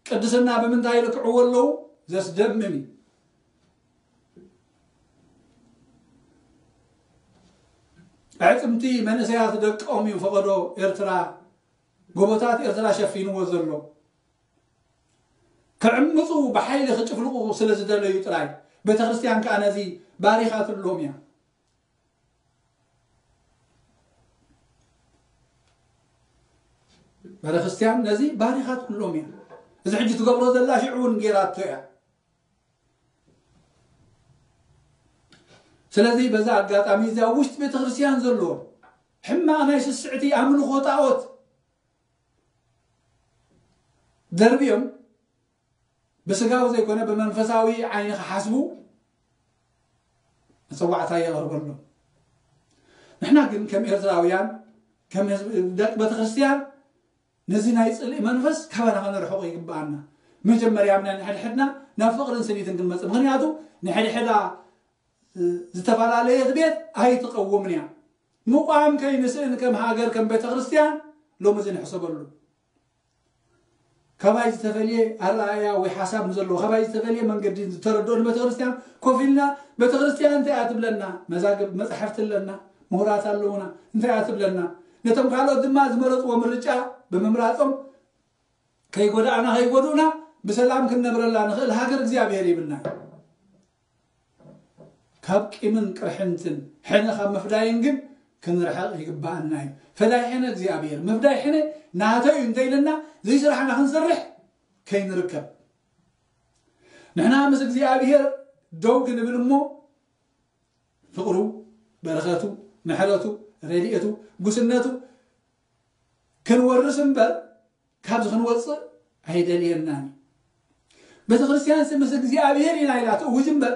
ቅድስና ብምንታይ ይልክዕዎ ኣለዉ? ዘስደምም እዩ። ኣዕጽምቲ መንእሰያት ደቆም እዩ ፈቐዶ ኤርትራ፣ ጎቦታት ኤርትራ ሸፊንዎ ዘሎ። ክዕምጹ ብሓይሊ ክጭፍልቑ ስለ ዝደለዩ ጥራይ፣ ቤተ ክርስቲያን ከኣ ነዚ ባሪኻትሎም እያ። ቤተ ክርስቲያን ነዚ ባሪኻትሎም እያ። እዚ ሕጂ ትገብሮ ዘላ ሽዑ እውን ጌራቶ እያ። ስለዚ በዛ ኣጋጣሚ እዚ ኣብ ውሽጢ ቤተ ክርስቲያን ዘሎ ሕማቕ ናይ ስስዕቲ ኣምልኾ ጣዖት ደርብዮም ብስጋዊ ዘይኮነ ብመንፈሳዊ ዓይኒ ክሓስቡ መጸዋዕታ የቕርበሎም። ንሕና ግን ከም ኤርትራውያን፣ ከም ህዝቢ፣ ደቂ ቤተ ክርስቲያን ነዚ ናይ ጽልኢ መንፈስ ካባና ከነርሕቖ ይግብኣና። መጀመርያ ናይ ንሕድሕድና ናብ ፍቕርን ስኒትን ክንመጽእ። ምኽንያቱ ንሕድሕዳ፣ እ፣ ዝተፈላለየት ቤት ኣይትቐውምን እያ። ምቋም ከይንስእን ከም ሃገር፣ ከም ቤተ ክርስቲያን ሎሚ እዚ ንሕሰበሉ። ካባይ ዝተፈልየ ኣረኣእያ ወይ ሓሳብ ንዘለዎ፣ ካባይ ዝተፈልየ መንገዲ ዝተረድኦ ንቤተ ክርስቲያን ኮፍ ኢልና፣ ቤተ ክርስቲያን እንታይ እያ ትብለና? መዛግብ መጻሕፍቲ ኣለና፣ ምሁራት ኣለዉና፣ እንታይ እያ ትብለና? ነቶም ካልኦት ድማ ዝመረጽዎ ምርጫ ብምምራጾም ከይጎዳእና ከይጎድኡና ብሰላም ክንነብረላ ንኽእል ሃገር እግዚኣብሔር ይብልና እዩ። ካብ ቂምን ቅርሕንትን ሕነ ካብ ምፍዳይን ግን ክንርሕቕ ይግብኣና እዩ። ፈዳይ ሕነ እግዚኣብሔር፣ ምፍዳይ ሕነ ናተይ እዩ እንተኢልና ዘይስራሕና ክንሰርሕ ከይንርከብ። ንሕና ምስ እግዚኣብሔር ደው ክንብል እሞ ፍቕሩ፣ በረኸቱ፣ ምሕረቱ፣ ረድኤቱ፣ ጉስነቱ ክንወርስ እምበር ካብዚ ክንወፅእ ኣይደልየናን እዩ። ቤተ ክርስቲያን ምስ እግዚኣብሔር ኢና ኢላ ትእውጅ እምበር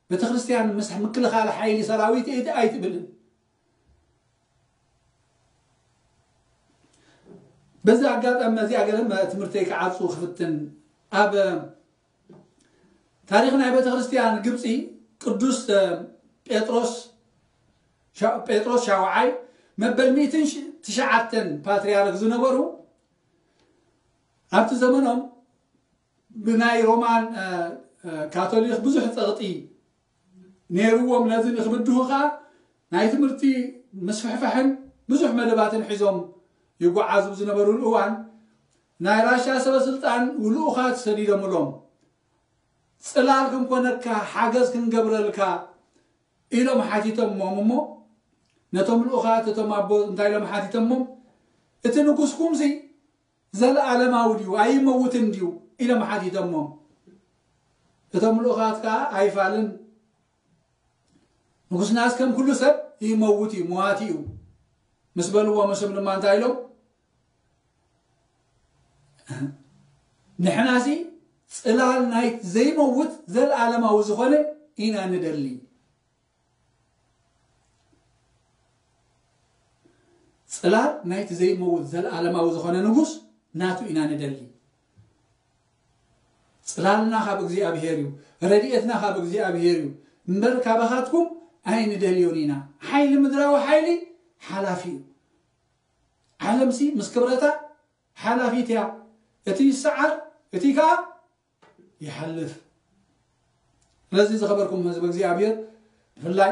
ቤተ ክርስቲያን ምስ ምክልኻል ሓይሊ ሰራዊት እየ ኣይትብልን። በዚ ኣጋጣሚ እዚኣ ገለ ትምህርተይ ክዓጹ ክፍትን። ኣብ ታሪኽ ናይ ቤተ ክርስቲያን ግብፂ ቅዱስ ጴጥሮስ ሻ-፣ ጴጥሮስ ሻውዓይ መበል ሚእትን ትሽዓተን ፓትርያርክ ዝነበሩ ኣብቲ ዘመኖም ብናይ ሮማን፣ እ፣ እ፣ ካቶሊክ ብዙሕ ጸቕጢ ነይርዎም። ነዚ ንክብድሁ ኸኣ ናይ ትምህርቲ ምስፍሕፋሕን ብዙሕ መደባትን ሒዞም ይጓዓዙ ዝነበሩሉ እዋን ናይ ራሻ ሰበ ስልጣን ልኡኻት ሰዲዶምሎም። ጽላል ክንኮነካ፣ ሓገዝ ክንገብረልካ ኢሎም ሓቲቶሞም እሞ ነቶም ልኡኻት እቶም ኣቦ እንታይ ኢሎም ሓቲቶሞም? እቲ ንጉስኩምሲ ዘለኣለማዊ ድዩ ኣይመውትን ድዩ ኢሎም ሓቲቶሞም። እቶም ልኡኻት ከኣ ኣይፋልን ንጉስናስ ከም ኩሉ ሰብ ይመውት እዩ፣ መዋቲ እዩ ምስ በልዎም፣ እሶም ድማ እንታይ ኢሎም? ንሕናሲ ጽላል ናይቲ ዘይመውት ዘለዓለማዊ ዝኾነ ኢና ንደሊ። ጽላል ናይቲ ዘይመውት ዘለዓለማዊ ዝኾነ ንጉስ ናቱ ኢና ንደሊ። ጽላልና ካብ እግዚኣብሔር እዩ፣ ረድኤትና ካብ እግዚኣብሔር እዩ እምበር ካባኻትኩም ኣይንደልዮን ኢና። ሓይሊ ምድራዊ ሓይሊ ሓላፊ እዩ። ዓለምሲ ምስ ክብረታ ሓላፊት እያ። እቲ ይሰዓር፣ እቲ ከኣ ይሓልፍ። ስለዚ ዝኸበርኩም ህዝቢ እግዚኣብሔር፣ ብፍላይ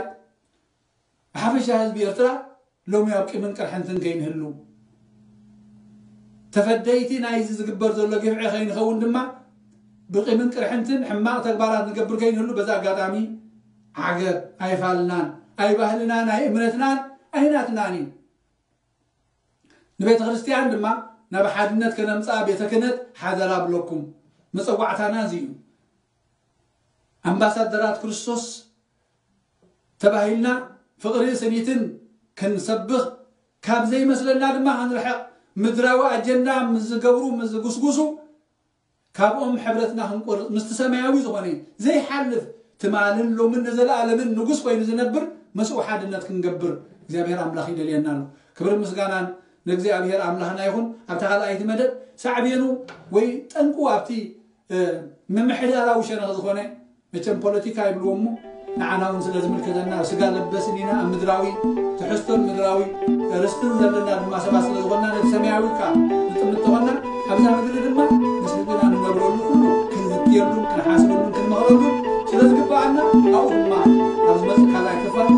ብሓፈሻ ህዝቢ ኤርትራ ሎሚ ኣብ ቂምን ቅርሕንትን ከይንህሉ፣ ተፈደይቲ ናይዚ ዝግበር ዘሎ ግፍዒ ከይንኸውን ድማ ብቂምን ቅርሕንትን ሕማቕ ተግባራት ንገብር ከይንህሉ በዛ ኣጋጣሚ ዓገብ ኣይፋልናን፣ ኣይባህልናን፣ ኣይእምነትናን፣ ኣይናትናን እዩ። ንቤተ ክርስቲያን ድማ ናብ ሓድነት ከነምጽኣ ቤተ ክህነት ሓደራ ብለኩም። መጸዋዕታና እዚ እዩ። ኣምባሳደራት ክርስቶስ ተባሂልና ፍቕሪ ስኒትን ክንሰብኽ፣ ካብ ዘይመስለና ድማ ክንርሕቕ፣ ምድራዊ ኣጀንዳ ምስ ዝገብሩ ምስ ዝጉስጉሱ ካብኦም ሕብረትና ክንቆርጽ፣ ምስቲ ሰማያዊ ዝኾነ ዘይሓልፍ ትማልን ሎምን ንዘለኣለምን ንጉስ ኮይኑ ዝነብር ምስኡ ሓድነት ክንገብር እግዚኣብሔር ኣምላኽ ይደልየና ኣሎ። ክብርን ምስጋናን ንእግዚኣብሔር ኣምላኽና ይኹን። ኣብታ ካልኣይቲ መደብ ሳዕቤኑ ወይ ጠንቁ ኣብቲ ምምሕዳራዊ ሸነኽ ዝኾነ መቸም ፖለቲካ ይብልዎ እሞ ንዓና እውን ስለ ዝምልከተና ስጋ ለበስን ኢና። ኣብ ምድራዊ ትሕዝቶን ምድራዊ ርስትን ዘለና ድማ ሰባት ስለ ዝኾንና ነቲ ሰማያዊ ከዓ ንጥምት ተኾንና ኣብዛ ምድሪ ድማ ምስ ህዝብና ንነብረሉ ኩሉ ክንዝትየሉን ክንሓስበሉን ክንመኽረሉን ስለ ዝግበኣና ኣብኡ ድማ ኣብ ዝመፅእ ካልኣይ ክፋል